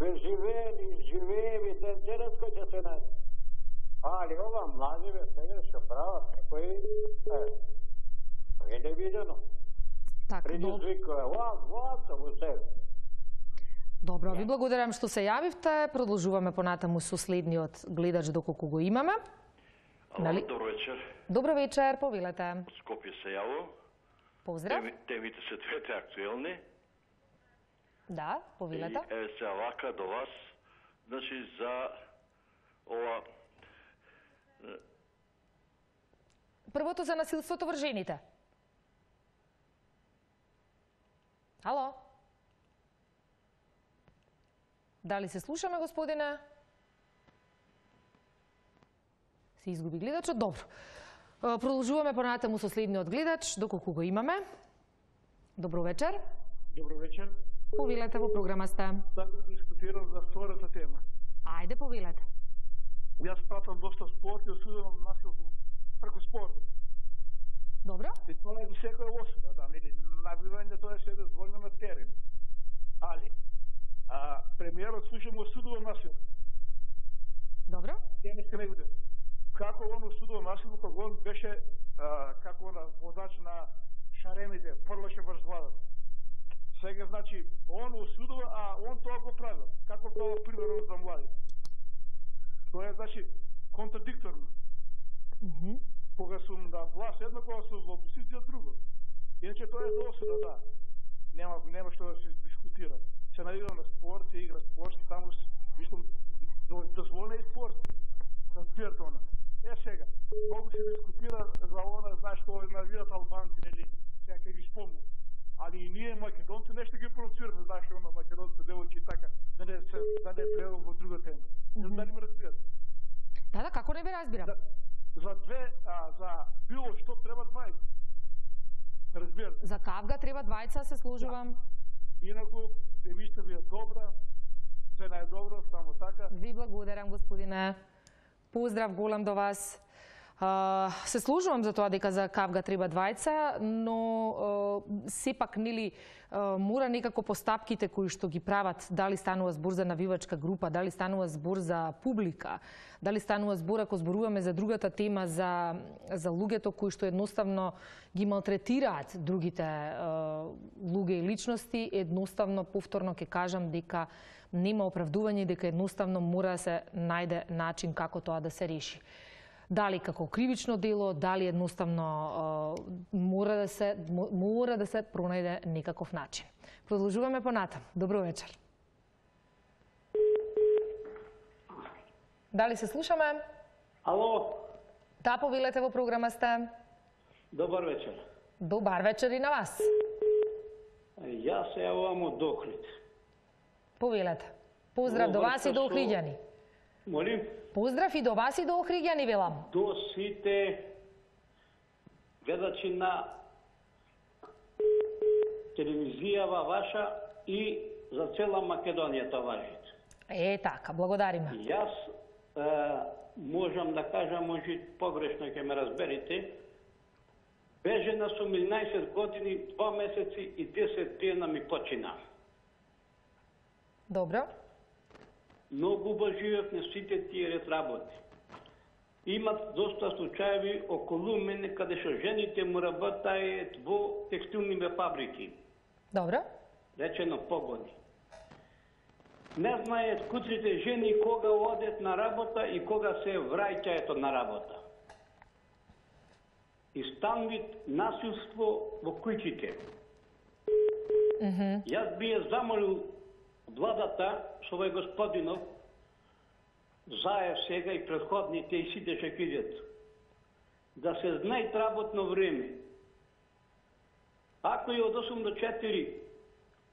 Све живеели, живееви, ден денеска ќе се најде. Али ова младиве сега што прават, некои, е, е невидено. Предизвикува, вау, вау, во себе. Добро, ви благодарам што се јавивте. Продолжуваме понатаму со следниот гледач доколку го имаме. Ало, нали? Добро вечер. Добро вечер, повелете. Од Скопје се јаво. Поздрав. Теми, темите се двете актуелни. Да, повелете. И еве се вака до вас, значи за ова... Првото за насилството врз жените. Ало? Дали се слушаме, господине? Се изгуби гледачот? Добро. Продолжуваме понатаму со следниот гледач, доколку го имаме. Добро вечер. Добро вечер. Повелете, во програма сте. Да дискутирам за втората тема. Ајде, повелете. Јас пратам доста спорт и осудувам насилство преку спорт. Добро. И тоа е за секоја осуда, да, нели, набивање тоа е се дозволено на терен. Али, а, премиерот слушам осудува насилство. Добро. Ја не искам да како он осудува насилство кога он беше а, како он водач на шаремите, фрлаше врз владата. Сега, значи, он осудува, а он тоа го правил. Како тоа примерно за младите. Тоа е, значи, контрадикторно. Mm -hmm. Кога сум на власт едно, кога сум во опозиција друго. Иначе тоа е за осуда, да. Нема, нема што да се дискутира. се навигам на спорт, се игра спорт, таму мислам дозволен е спорт. Разбирате она. Е сега, многу се дискутира за она, знаеш што навијат албанци, нели, сега ќе ги спомнам. Али и ние македонци нешто ги провоцираме, знаеш она македонци девојки така, да не се да не прелом во друга тема. Не знам дали ме разбирате. Да, да, како не ве разбирам? За, за две, а, за било што треба двајца. Разбирате. За кавга треба двајца, се служувам. Да. Инаку, емисија ви е добра, се најдобро, само така. Ви благодарам, господине. Поздрав голем до вас. Uh, се служувам за тоа дека за кавга треба двајца, но uh, сепак нели uh, мора некако постапките кои што ги прават, дали станува збор за навивачка група, дали станува збор за публика, дали станува збор ако зборуваме за другата тема за за луѓето кои што едноставно ги малтретираат другите uh, луѓе и личности, едноставно повторно ќе кажам дека нема оправдување, дека едноставно мора да се најде начин како тоа да се реши. Дали како кривично дело, дали едноставно uh, мора да се мора да се пронајде некаков начин. Продолжуваме понатам. Добро вечер. Дали се слушаме? Ало. Да, повелете во програма сте. Добар вечер. Добар вечер и на вас. Јас се јавувам од Охрид. Повелете. Поздрав до вас и до Охриѓани. Молим? Поздрав и до вас и до Охриѓани, велам. До сите гледачи на телевизијава ваша и за цела Македонија тоа важи. Е, така, благодариме. Јас е, можам да кажам, може погрешно ќе ме разберете, бежена сум еднаесет години, два месеци и десет дена ми почина. Добро. Многу убавив на сите тие ред работи. Имат доста случаеви околу мене каде што жените му работаат во текстилни фабрики. Добро. Речено погони. Не знаат куците жени кога одат на работа и кога се враќаат на работа. И стан вид насилство во куќите. Mm -hmm. Јас би ја замолил владата, со овој господинов, заев сега и предходните и сите што ќе да се знае работно време. Ако е од осум до четири,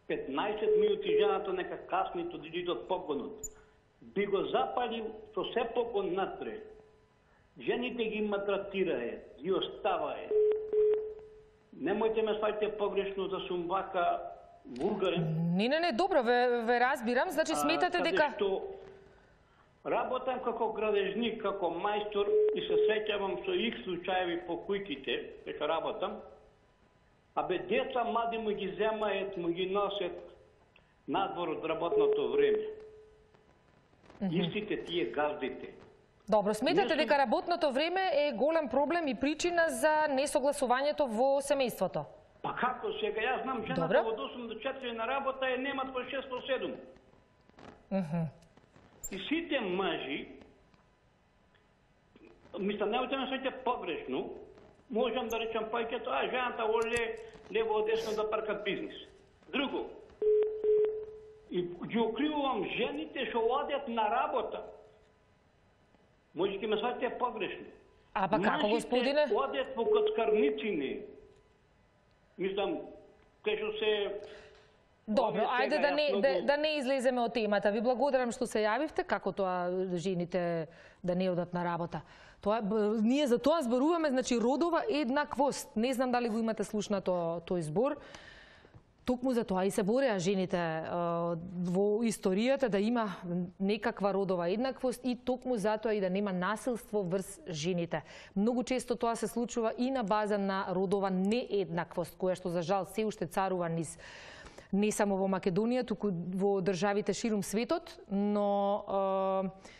петнаесет минути жената нека каснито да иде од погонот, би го запалил со се погон натре. Жените ги матратираат, ги оставаат. Немојте ме сваќате погрешно да сум вака вулгарен. Не, не, не, добро, ве, ве разбирам. Значи сметате дека... Што работам како градежник, како мајстор и се среќавам со их случаеви по кујките, дека работам, а бе деца млади му ги земаат, му ги носят надвор од работното време. Mm -hmm. Истите тие газдите. Добро, сметате сум... дека работното време е голем проблем и причина за несогласувањето во семејството? Па како сега? Јас знам жената од осум до четири на работа е немат по шест до седум. Mm -hmm. И сите мажи, мисля, немојте ме сваќате погрешно, можам да речам пајќето, а жената оле лево десно да паркат бизнис. Друго, и ги окривувам жените што одат на работа. Може ќе ме сваќате погрешно. А па како, господине? Мажите одат во коцкарницини. Мислам, кај што се... Добро, ајде да не, да, да не излеземе од темата. Ви благодарам што се јавивте, како тоа жените да не одат на работа. Тоа, ние за тоа зборуваме, значи родова еднаквост. Не знам дали го имате слушнато тој збор. Токму за тоа и се бореа жените во историјата да има некаква родова еднаквост и токму затоа и да нема насилство врз жените. Многу често тоа се случува и на база на родова нееднаквост, која што за жал се уште царува низ не само во Македонија, туку во државите ширум светот, но е,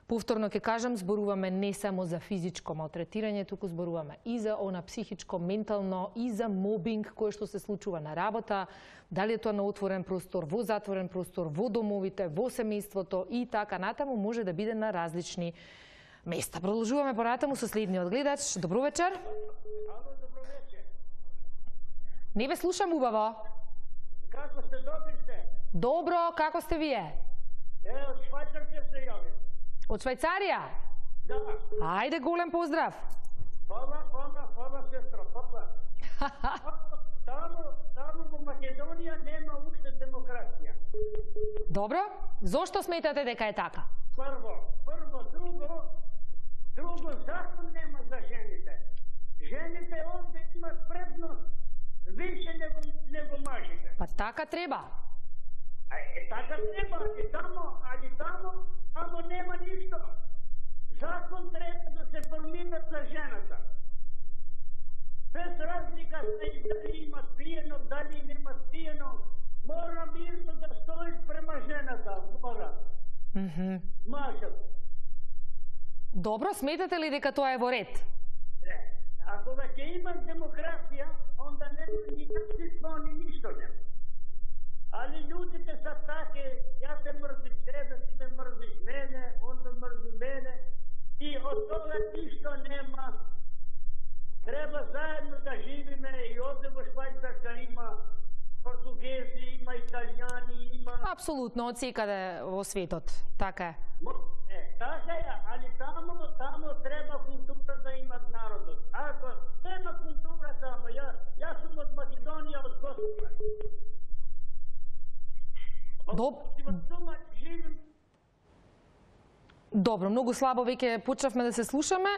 повторно ќе кажам, зборуваме не само за физичко малтретирање, туку зборуваме и за она психичко, ментално, и за мобинг кој што се случува на работа, дали е тоа на отворен простор, во затворен простор, во домовите, во семејството и така натаму, може да биде на различни места. Продолжуваме поратаму со следниот гледач. Добро вечер. Ало, добро вечер. Не ве слушам убаво. Како сте, добри сте? Добро, како сте вие? Е, од Швајцарска се јавим. Од Швајцарија? Да. Ајде, голем поздрав. Фала, фала, фала, сестра, фала. Таму, таму во Македонија нема уште демократија. Добро, зошто сметате дека е така? Прво, прво, друго, друго, закон нема за жените. Жените овде имат предност више него, него мажите. Па така треба. Е, така треба, али тамо, али тамо, амо нема ништо. Закон треба да се формира за жената. Без разлика дали има пиено, дали нема пиено, мора мирно да стои према жената, мора. Mm -hmm. Мажат. Добро, сметате ли дека тоа е во ред? Е, ако веќе има демократија, онда нема ни насилство, ни ништо нема. Али луѓето са таке, јас те мрзим тебе, ти ме мрзиш мене, он ме мрзи мене, и од тоа ништо нема. Треба заедно да живиме и овде во Швајцарска има португези, има италијани, има... Апсолутно, од секаде во светот, така е. Е, така е, али тамо, тамо треба култура да имат народот. Ако нема култура тамо, ја, јас сум од Македонија, од Косово. Доб... Добро, многу слабо веќе почнавме да се слушаме.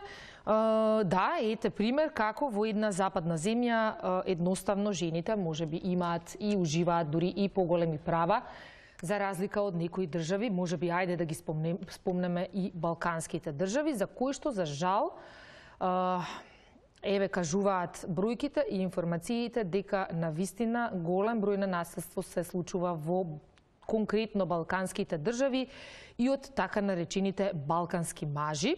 Да, ете пример како во една западна земја едноставно жените можеби имаат и уживаат дури и поголеми права, за разлика од некои држави, можеби ајде да ги спомнем, спомнеме и балканските држави, за кои што за жал еве кажуваат бројките и информациите дека навистина голем број на насилство се случува во конкретно балканските држави и од така наречените балкански мажи.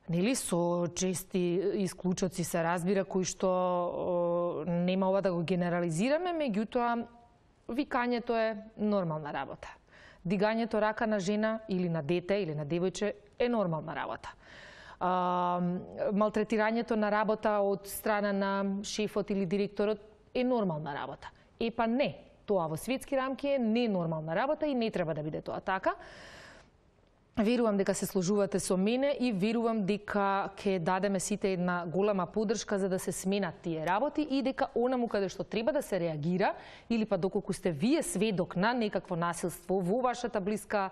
Нели, со чести исклучоци се разбира, кои што нема ова да го генерализираме, меѓутоа викањето е нормална работа. Дигањето рака на жена или на дете или на девојче е нормална работа. А, малтретирањето на работа од страна на шефот или директорот е нормална работа. Епа не, тоа во светски рамки е ненормална работа и не треба да биде тоа така. Верувам дека се сложувате со мене и верувам дека ќе дадеме сите една голема поддршка за да се сменат тие работи и дека онаму каде што треба да се реагира или па доколку сте вие сведок на некакво насилство во вашата блиска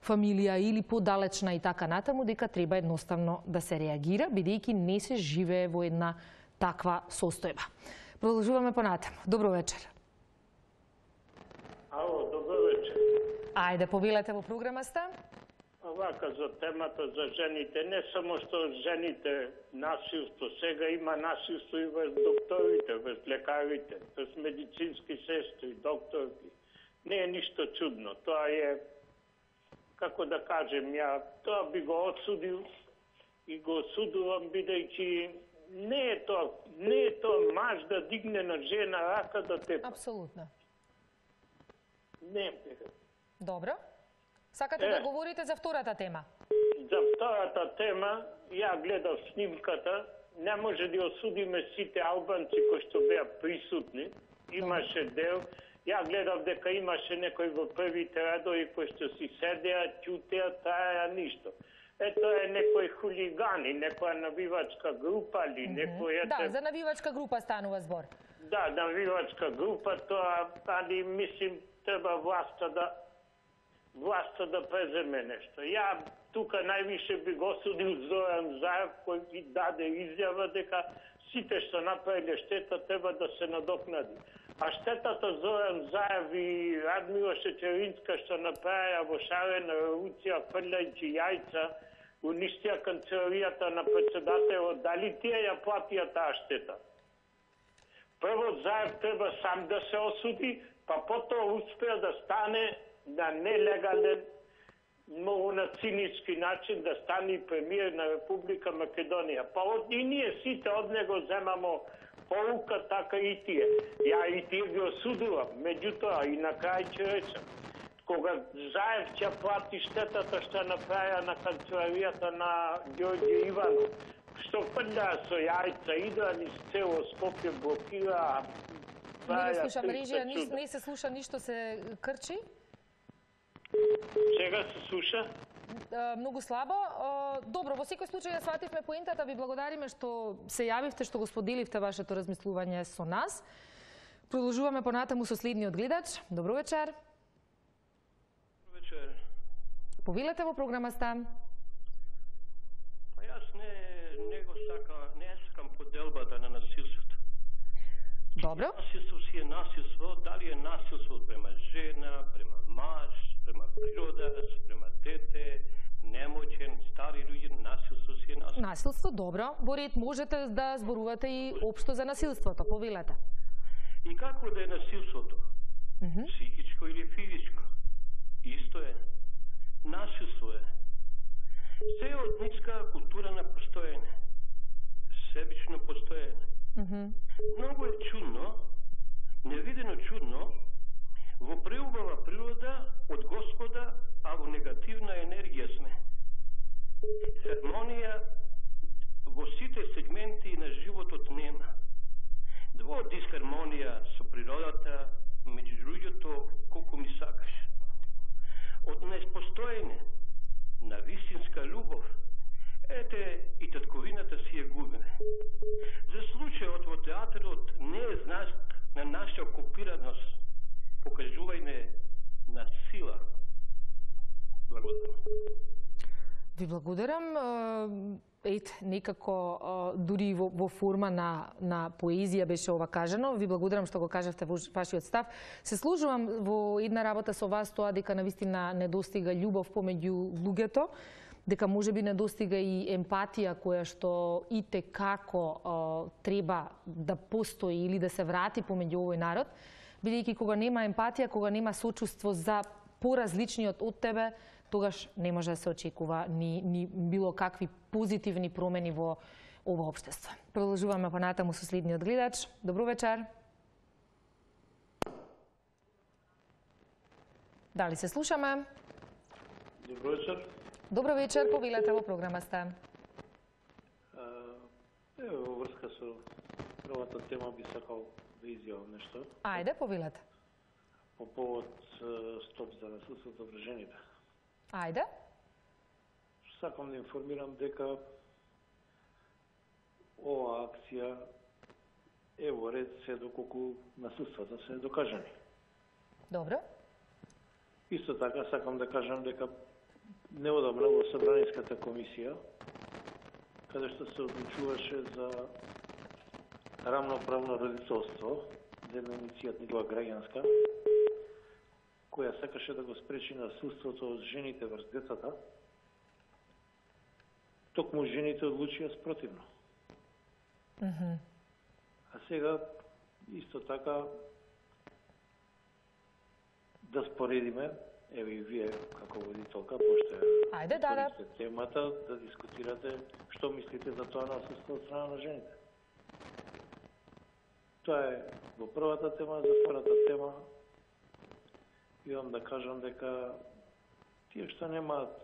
фамилија или подалечна и така натаму, дека треба едноставно да се реагира, бидејќи не се живее во една таква состојба. Продолжуваме понатаму. Добро вечер. Ало, добро вечер. Ајде, повелете во програмаста. Вака за темата за жените, не само што жените насилство, сега има насилство и врз докторите, врз лекарите, врз медицински сестри, докторки. Не е ништо чудно. Тоа е, како да кажем, ја тоа би го отсудил и го осудувам, бидејќи не е тоа, не е тоа маж да дигне на жена рака да тепа. Апсолутно. Не. Добро. Сакате е, да говорите за втората тема? За втората тема, ја гледав снимката, не може да осудиме сите албанци кои што беа присутни. Имаше дел, ја гледав дека имаше некои во првите радови кои што си седеа, ќутеа, траја ништо. Ето е некои хулигани, некоја навивачка група или mm -hmm. некој... Ете... Да, за навивачка група станува збор. Да, навивачка група, тоа, али мислим, треба власта да власта да преземе нешто. Ја тука највише би го осудил Зоран Заев, кој ги даде изјава дека сите што направиле штета треба да се надокнади. А штетата Зоран Заев и Радмила Шечеринска што направија во шарена револуција, фрлајќи јајца, уништија канцеларијата на председателот, дали тие ја платија таа штета? Прво Заев треба сам да се осуди, па потоа успеа да стане на нелегален, многу на цинички начин да стане премиер на Република Македонија. Па од и ние сите од него земамо полука, така и тие. Ја и тие ги осудувам, меѓутоа и на крај ќе речам, кога Заев ќе плати штетата што направија на канцеларијата на Ѓорѓе Иванов, што фрлаа со јајца, идра низ цело Скопје, блокира Не го слушаме, режија, не се слуша, ништо се крчи. Сега се слуша? Многу слабо. Добро, во секој случај ја свативме поентата, ви благодариме што се јавивте, што го споделивте вашето размислување со нас. Продолжуваме понатаму со следниот гледач. Добро вечер. Добро вечер. Повелете во програмаста. Па јас не, не го сака, не сакам поделбата на насилството. Добро. Насилство си е насилство, дали е насилство према жена, према маж, према природа, према дете, немоćен, стари луѓе, насилство си е насилство. Насилство, добро. Во ред можете да зборувате и општо за насилството, повелете. И како да е насилството? Mm -hmm. Психичко или физичко? Исто е. Насилство е. Се е од ниска култура на постоење. Себично постоење. Mm -hmm. Многу е чудно, невидено чудно, во преубава природа од Господа, а во негативна енергија сме. Хармонија во сите сегменти на животот нема. Во дисхармонија со природата, меѓу луѓето, колку ми сакаш. Од неспостоење на вистинска љубов, ете и татковината си ја губиме. За случајот во театарот не е знак на наша окупираност, покажување на сила. Благодарам. Ви благодарам. Ет, некако дури во, во форма на, на поезија беше ова кажано. Ви благодарам што го кажавте во вашиот став. Се служувам во една работа со вас тоа дека навистина недостига љубов помеѓу луѓето, дека можеби недостига и емпатија која што и те како треба да постои или да се врати помеѓу овој народ, бидејќи кога нема емпатија, кога нема сочувство за поразличниот од тебе, тогаш не може да се очекува ни, ни било какви позитивни промени во ова општество. Продолжуваме понатаму со следниот гледач. Добро вечер. Дали се слушаме? Добро вечер. Добро вечер, повелете во програмаста. Ево, во врска со првата тема би сакал да изјавам нешто. Ајде, повелете. По повод стоп за насилството врз жените. Ајде. Сакам да информирам дека ова акција е во ред се доколку насилствата се докажани. Добро. Исто така сакам да кажам дека неодамна во Собраниската комисија, каде што се одлучуваше за рамноправно родителство, за една иницијатива граѓанска, која сакаше да го спречи насилството од жените врз децата, токму жените одлучија спротивно. Mm -hmm. А сега, исто така, да споредиме, еве и вие како водителка, пошто е да, да. темата, да дискутирате што мислите за тоа насилство од страна на жените. Тоа е во првата тема, за втората тема имам да кажам дека тие што немаат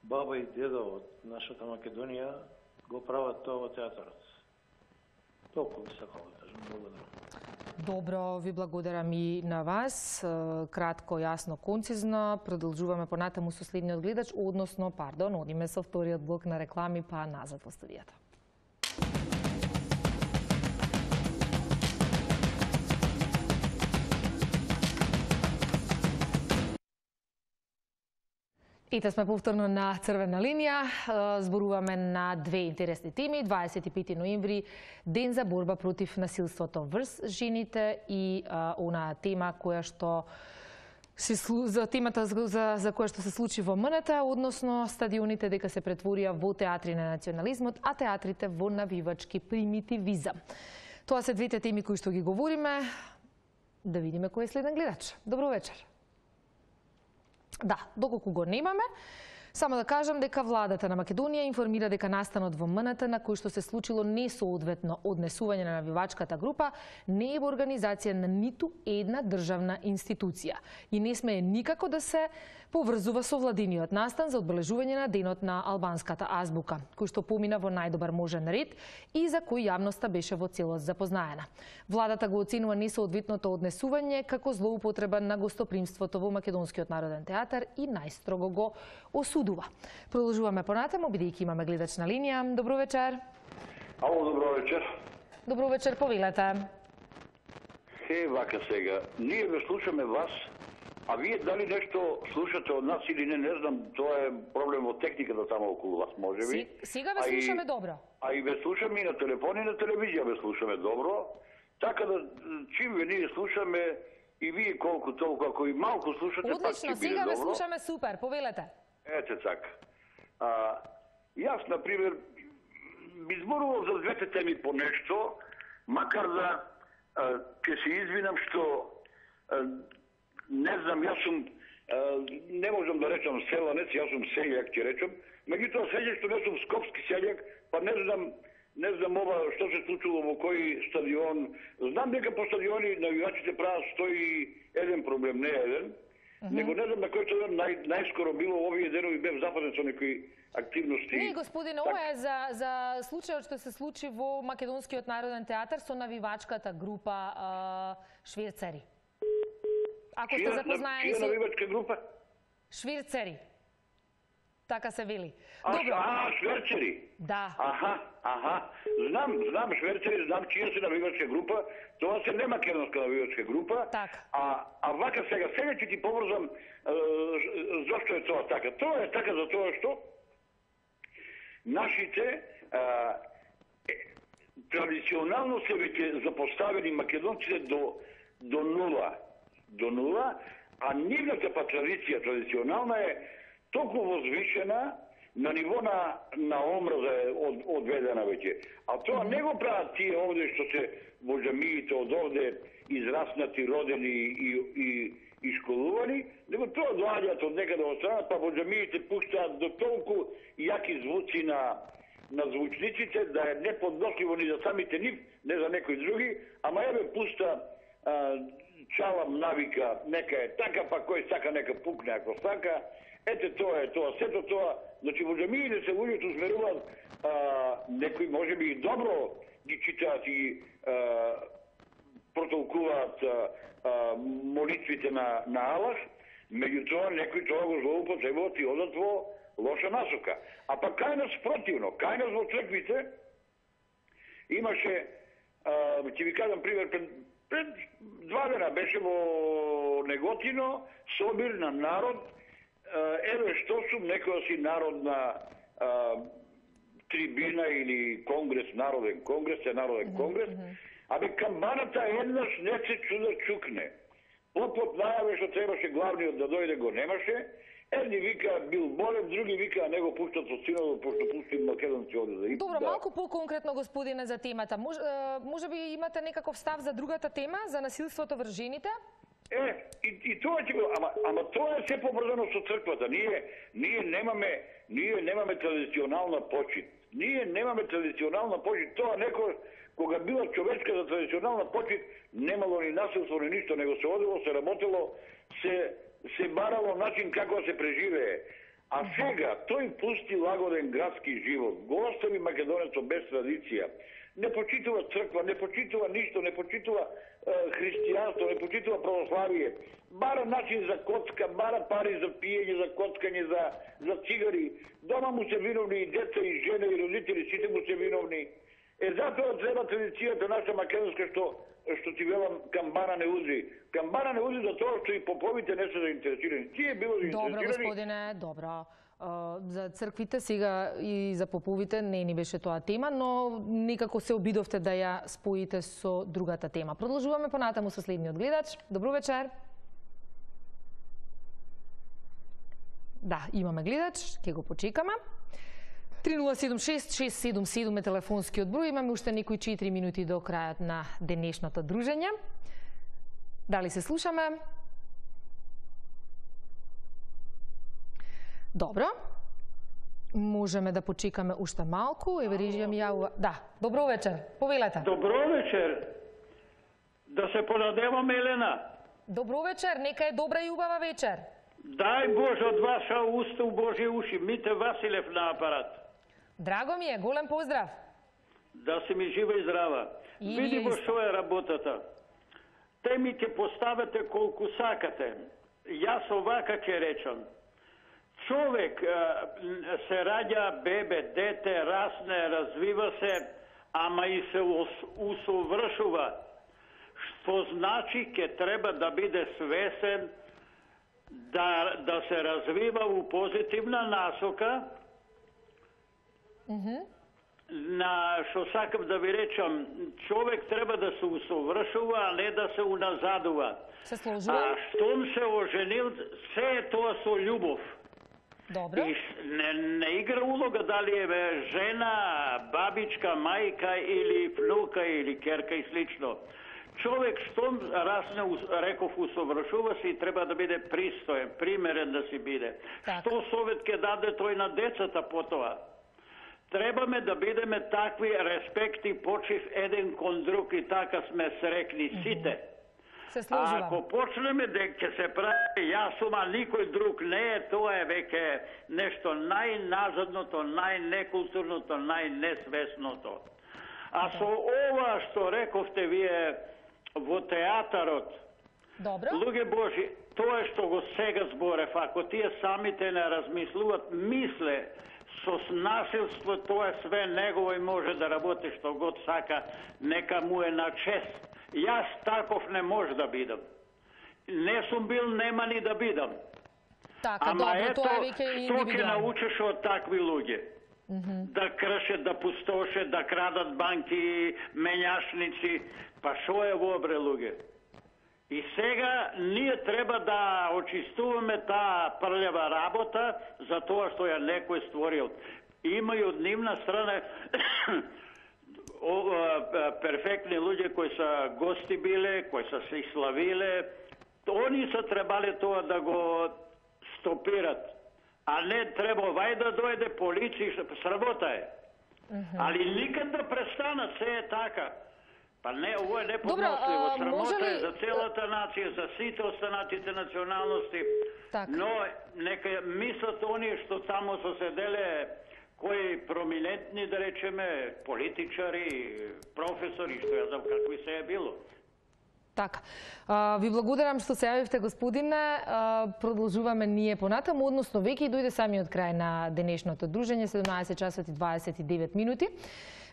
баба и деда од нашата Македонија го прават тоа во театарот. Толку би сакал да кажам. Благодарам. Добро, ви благодарам и на вас. Кратко, јасно, концизно. Продолжуваме понатаму со следниот гледач, односно, пардон, одиме со вториот блок на реклами, па назад во студијата. Ете сме повторно на црвена линија, зборуваме на две интересни теми. дваесет и пети ноември, ден за борба против насилството врз жените и а, она тема која што се за темата за, за која што се случи во МНТ, односно стадионите дека се претворија во театри на национализмот, а театрите во навивачки примитивизам. Тоа се двете теми кои што ги говориме. Да видиме кој е следен гледач. Добро вечер. Да, доколку го немаме, Само да кажам дека владата на Македонија информира дека настанот во М Н Т на кој што се случило несоодветно однесување на навивачката група не е во организација на ниту една државна институција и не смее никако да се поврзува со владиниот настан за одбележување на денот на албанската азбука, кој што помина во најдобар можен ред и за кој јавноста беше во целост запознаена. Владата го оценува несоодветното однесување како злоупотреба на гостопримството во Македонскиот народен театар и најстрого го осудува. Продолжуваме понатаму, бидејќи имаме гледач на линија. Добро вечер. Ало, добро вечер. Добро вечер, повелете. Е, вака сега, ние ве слушаме вас, а вие дали нешто слушате од нас или не, не знам, тоа е проблем од техниката тамо околу вас, може би. Сега ве слушаме добро. А и ве слушаме и на телефон и на телевизија ве слушаме добро, така да чим ве ние слушаме и вие колку толку, ако и малку слушате, одлично, пак ќе биде добро. сега ве слушаме супер, повелете. Ете така. А, јас, например, би зборувал за двете теми по нешто, макар да а, ќе се извинам што а, не знам, јас сум, а, не можам да речам селанец, јас сум селјак, ќе речам, меѓутоа селјак што не сум скопски селјак, па не знам, не знам ова што се случило во кој стадион. Знам дека по стадиони навивачите прават сто и еден проблем, не еден, uh -huh. него не знам на кој стадион нај, најскоро било овие денови бев западен со некои активности. Не, господине, ова е за, за случајот што се случи во Македонскиот народен театар со навивачката група а, швирцери. Ако сте запознаени со... Чија навивачка група? Швирцери. Така се вели. А, Добро. а шверцери? Да. Аха, аха. Знам, знам шверцери, знам чија се навивачка група. Тоа се не македонска навивачка група. Так. А, а вака сега, сега ќе ти побрзам е, зошто е тоа така. Тоа е така за тоа што нашите е, традиционално се веќе запоставени македонците до, до нула. До нула, а нивната па традиција традиционална е толку возвишена на ниво на, на омраза е од, одведена веќе. А тоа не го прават тие овде што се во џамиите од овде израснати, родени и, и, и школувани, него тоа доаѓаат од некаде од страна, па во џамиите пуштаат до толку јаки звуци на, на звучниците, да е неподносливо ни за самите нив, не за некои други, ама еве пуста а, чалам навика, нека е така, па кој сака нека пукне ако сака. Ете тоа е тоа, сето тоа, значи во џамиите се луѓето усмеруваат, некои може би и добро ги читаат и а, протолкуваат а, а, молитвите на, на Аллах, меѓутоа некои тоа го злоупотребуваат и одат во лоша насока. А па кај нас противно, кај нас во црквите имаше, а, ќе ви кажам пример, пред, пред два дена беше во Неготино собир на народ. Еве што сум некоја си народна а, трибина или конгрес, народен конгрес, е народен конгрес, абе камбаната еднаш не се чуда чукне. Попот најаве што требаше главниот да дојде го немаше, едни вика бил болен, други вика не го пуштат со синово, пошто пусти македонци оде да. Добро, да. Малку по-конкретно, господине, за темата. Мож, може би имате некаков став за другата тема, за насилството врз жените? Е, и, и тоа ќе го, ама, ама тоа е се поврзано со црквата. Ние, ние немаме, ние немаме традиционална почит. Ние немаме традиционална почит. Тоа некој, кога била човечка за традиционална почит, немало ни насилство, ни ништо, него се одело, се работело, се, се барало начин како да се преживее. А сега, тој пусти лагоден градски живот, го остави македонецот без традиција, не почитува црква, не почитува ништо, не почитува е, христијанство, не почитува православие. Бара начин за коцка, бара пари за пиење, за коцкање, за, за цигари. Дома му се виновни и деца, и жена, и родители, сите му се виновни. Е, затоа треба традицијата наша македонска, што, што ти велам, камбана не узи. Камбана не узи за тоа што и поповите не се заинтересирани. Тие било заинтересирани. Добро, господине, добро. За црквите сега и за поповите не ни беше тоа тема, но некако се обидовте да ја споите со другата тема. Продолжуваме понатаму со следниот гледач. Добро вечер. Да, имаме гледач, ќе го почекаме. три нула седум шест шест седум седум е телефонскиот број. Имаме уште некои четири минути до крајот на денешното дружење. Дали се слушаме? Добро. Можеме да почекаме уште малку. Еве режија ми јавува. Да, добро вечер. Повелете. Добро вечер. Да се понадеваме, Елена. Добро вечер, нека е добра и убава вечер. Дај Боже од ваша уста у Божи уши. Мите Василев на апарат. Драго ми е, голем поздрав. Да си ми жива и здрава. И Види вие во исто. што е работата. Теми ќе поставате колку сакате. Јас овака ќе речам. Човек а, се раѓа бебе, дете, расне, развива се, ама и се ус- усовршува. Што значи ќе треба да биде свесен да, да се развива у позитивна насока, на што сакам да ви речам, човек треба да се усовршува, а не да се уназадува. Се сложувам. А штом се оженил, се е тоа со љубов. Добро. И не, не игра улога дали е бе, жена, бабичка, мајка или внука или керка и слично. Човек штом расне, реков, усовршува се и треба да биде пристоен, примерен да си биде. Так. Што совет ќе даде тој на децата потоа? Требаме да бидеме такви, респект и почив еден кон друг и така сме срекни сите. Се А сложувам. ако почнеме дека ќе се прави јас сум, а никој друг не е, тоа е веќе нешто најназадното, најнекултурното, најнесвесното. А со ова што рековте вие во театарот, Добро. луѓе Божи, тоа е што го сега зборев, ако тие самите не размислуват, мисле, со насилство тоа е све негово и може да работи што год сака, нека му е на чест. Јас таков не може да бидам. Не сум бил, нема ни да бидам. Така, Ама добро, ето, тоа е веќе што ќе индивидуално. научиш од такви луѓе? Да кршат, да пустошат, да крадат банки, менјашници. Па шо е во бре луѓе? И сега ние треба да очистуваме таа прљава работа за тоа што ја некој створил. Има и од нивна страна о, а, перфектни луѓе кои са гости биле, кои са се славиле. Они са требале тоа да го стопират. А не треба вај да дојде полиција, сработа е. Али никад да престанат, се е така. Па не, ово е неподносливо. а, Срамота може ли- е за целата нација, за сите останатите националности. Така. Но нека мислат оние што таму се седеле, кои проминентни, да речеме, политичари, професори, што ја знам какви се е било. Така. А, ви благодарам што се јавивте, господине. А, продолжуваме ние понатаму, односно веќе и дојде самиот крај на денешното дружење, седумнаесет часот и дваесет и девет минути.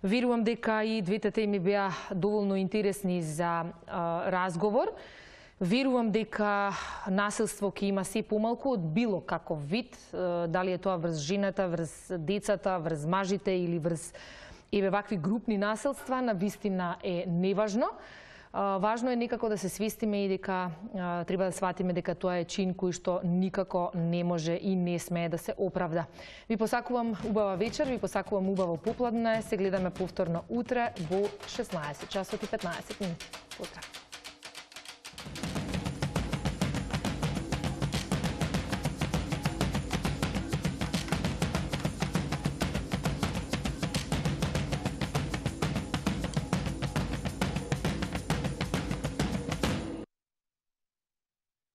Верувам дека и двете теми беа доволно интересни за а, разговор. Верувам дека насилство ќе има се помалку од било каков вид, а, дали е тоа врз жената, врз децата, врз мажите или врз еве вакви групни насилства, на вистина е неважно. А, важно е некако да се свестиме и дека а, треба да сватиме дека тоа е чин кој што никако не може и не смее да се оправда. Ви посакувам убава вечер, ви посакувам убаво попладне. Се гледаме повторно утре во шеснаесет часот и петнаесет минути. Поздрав!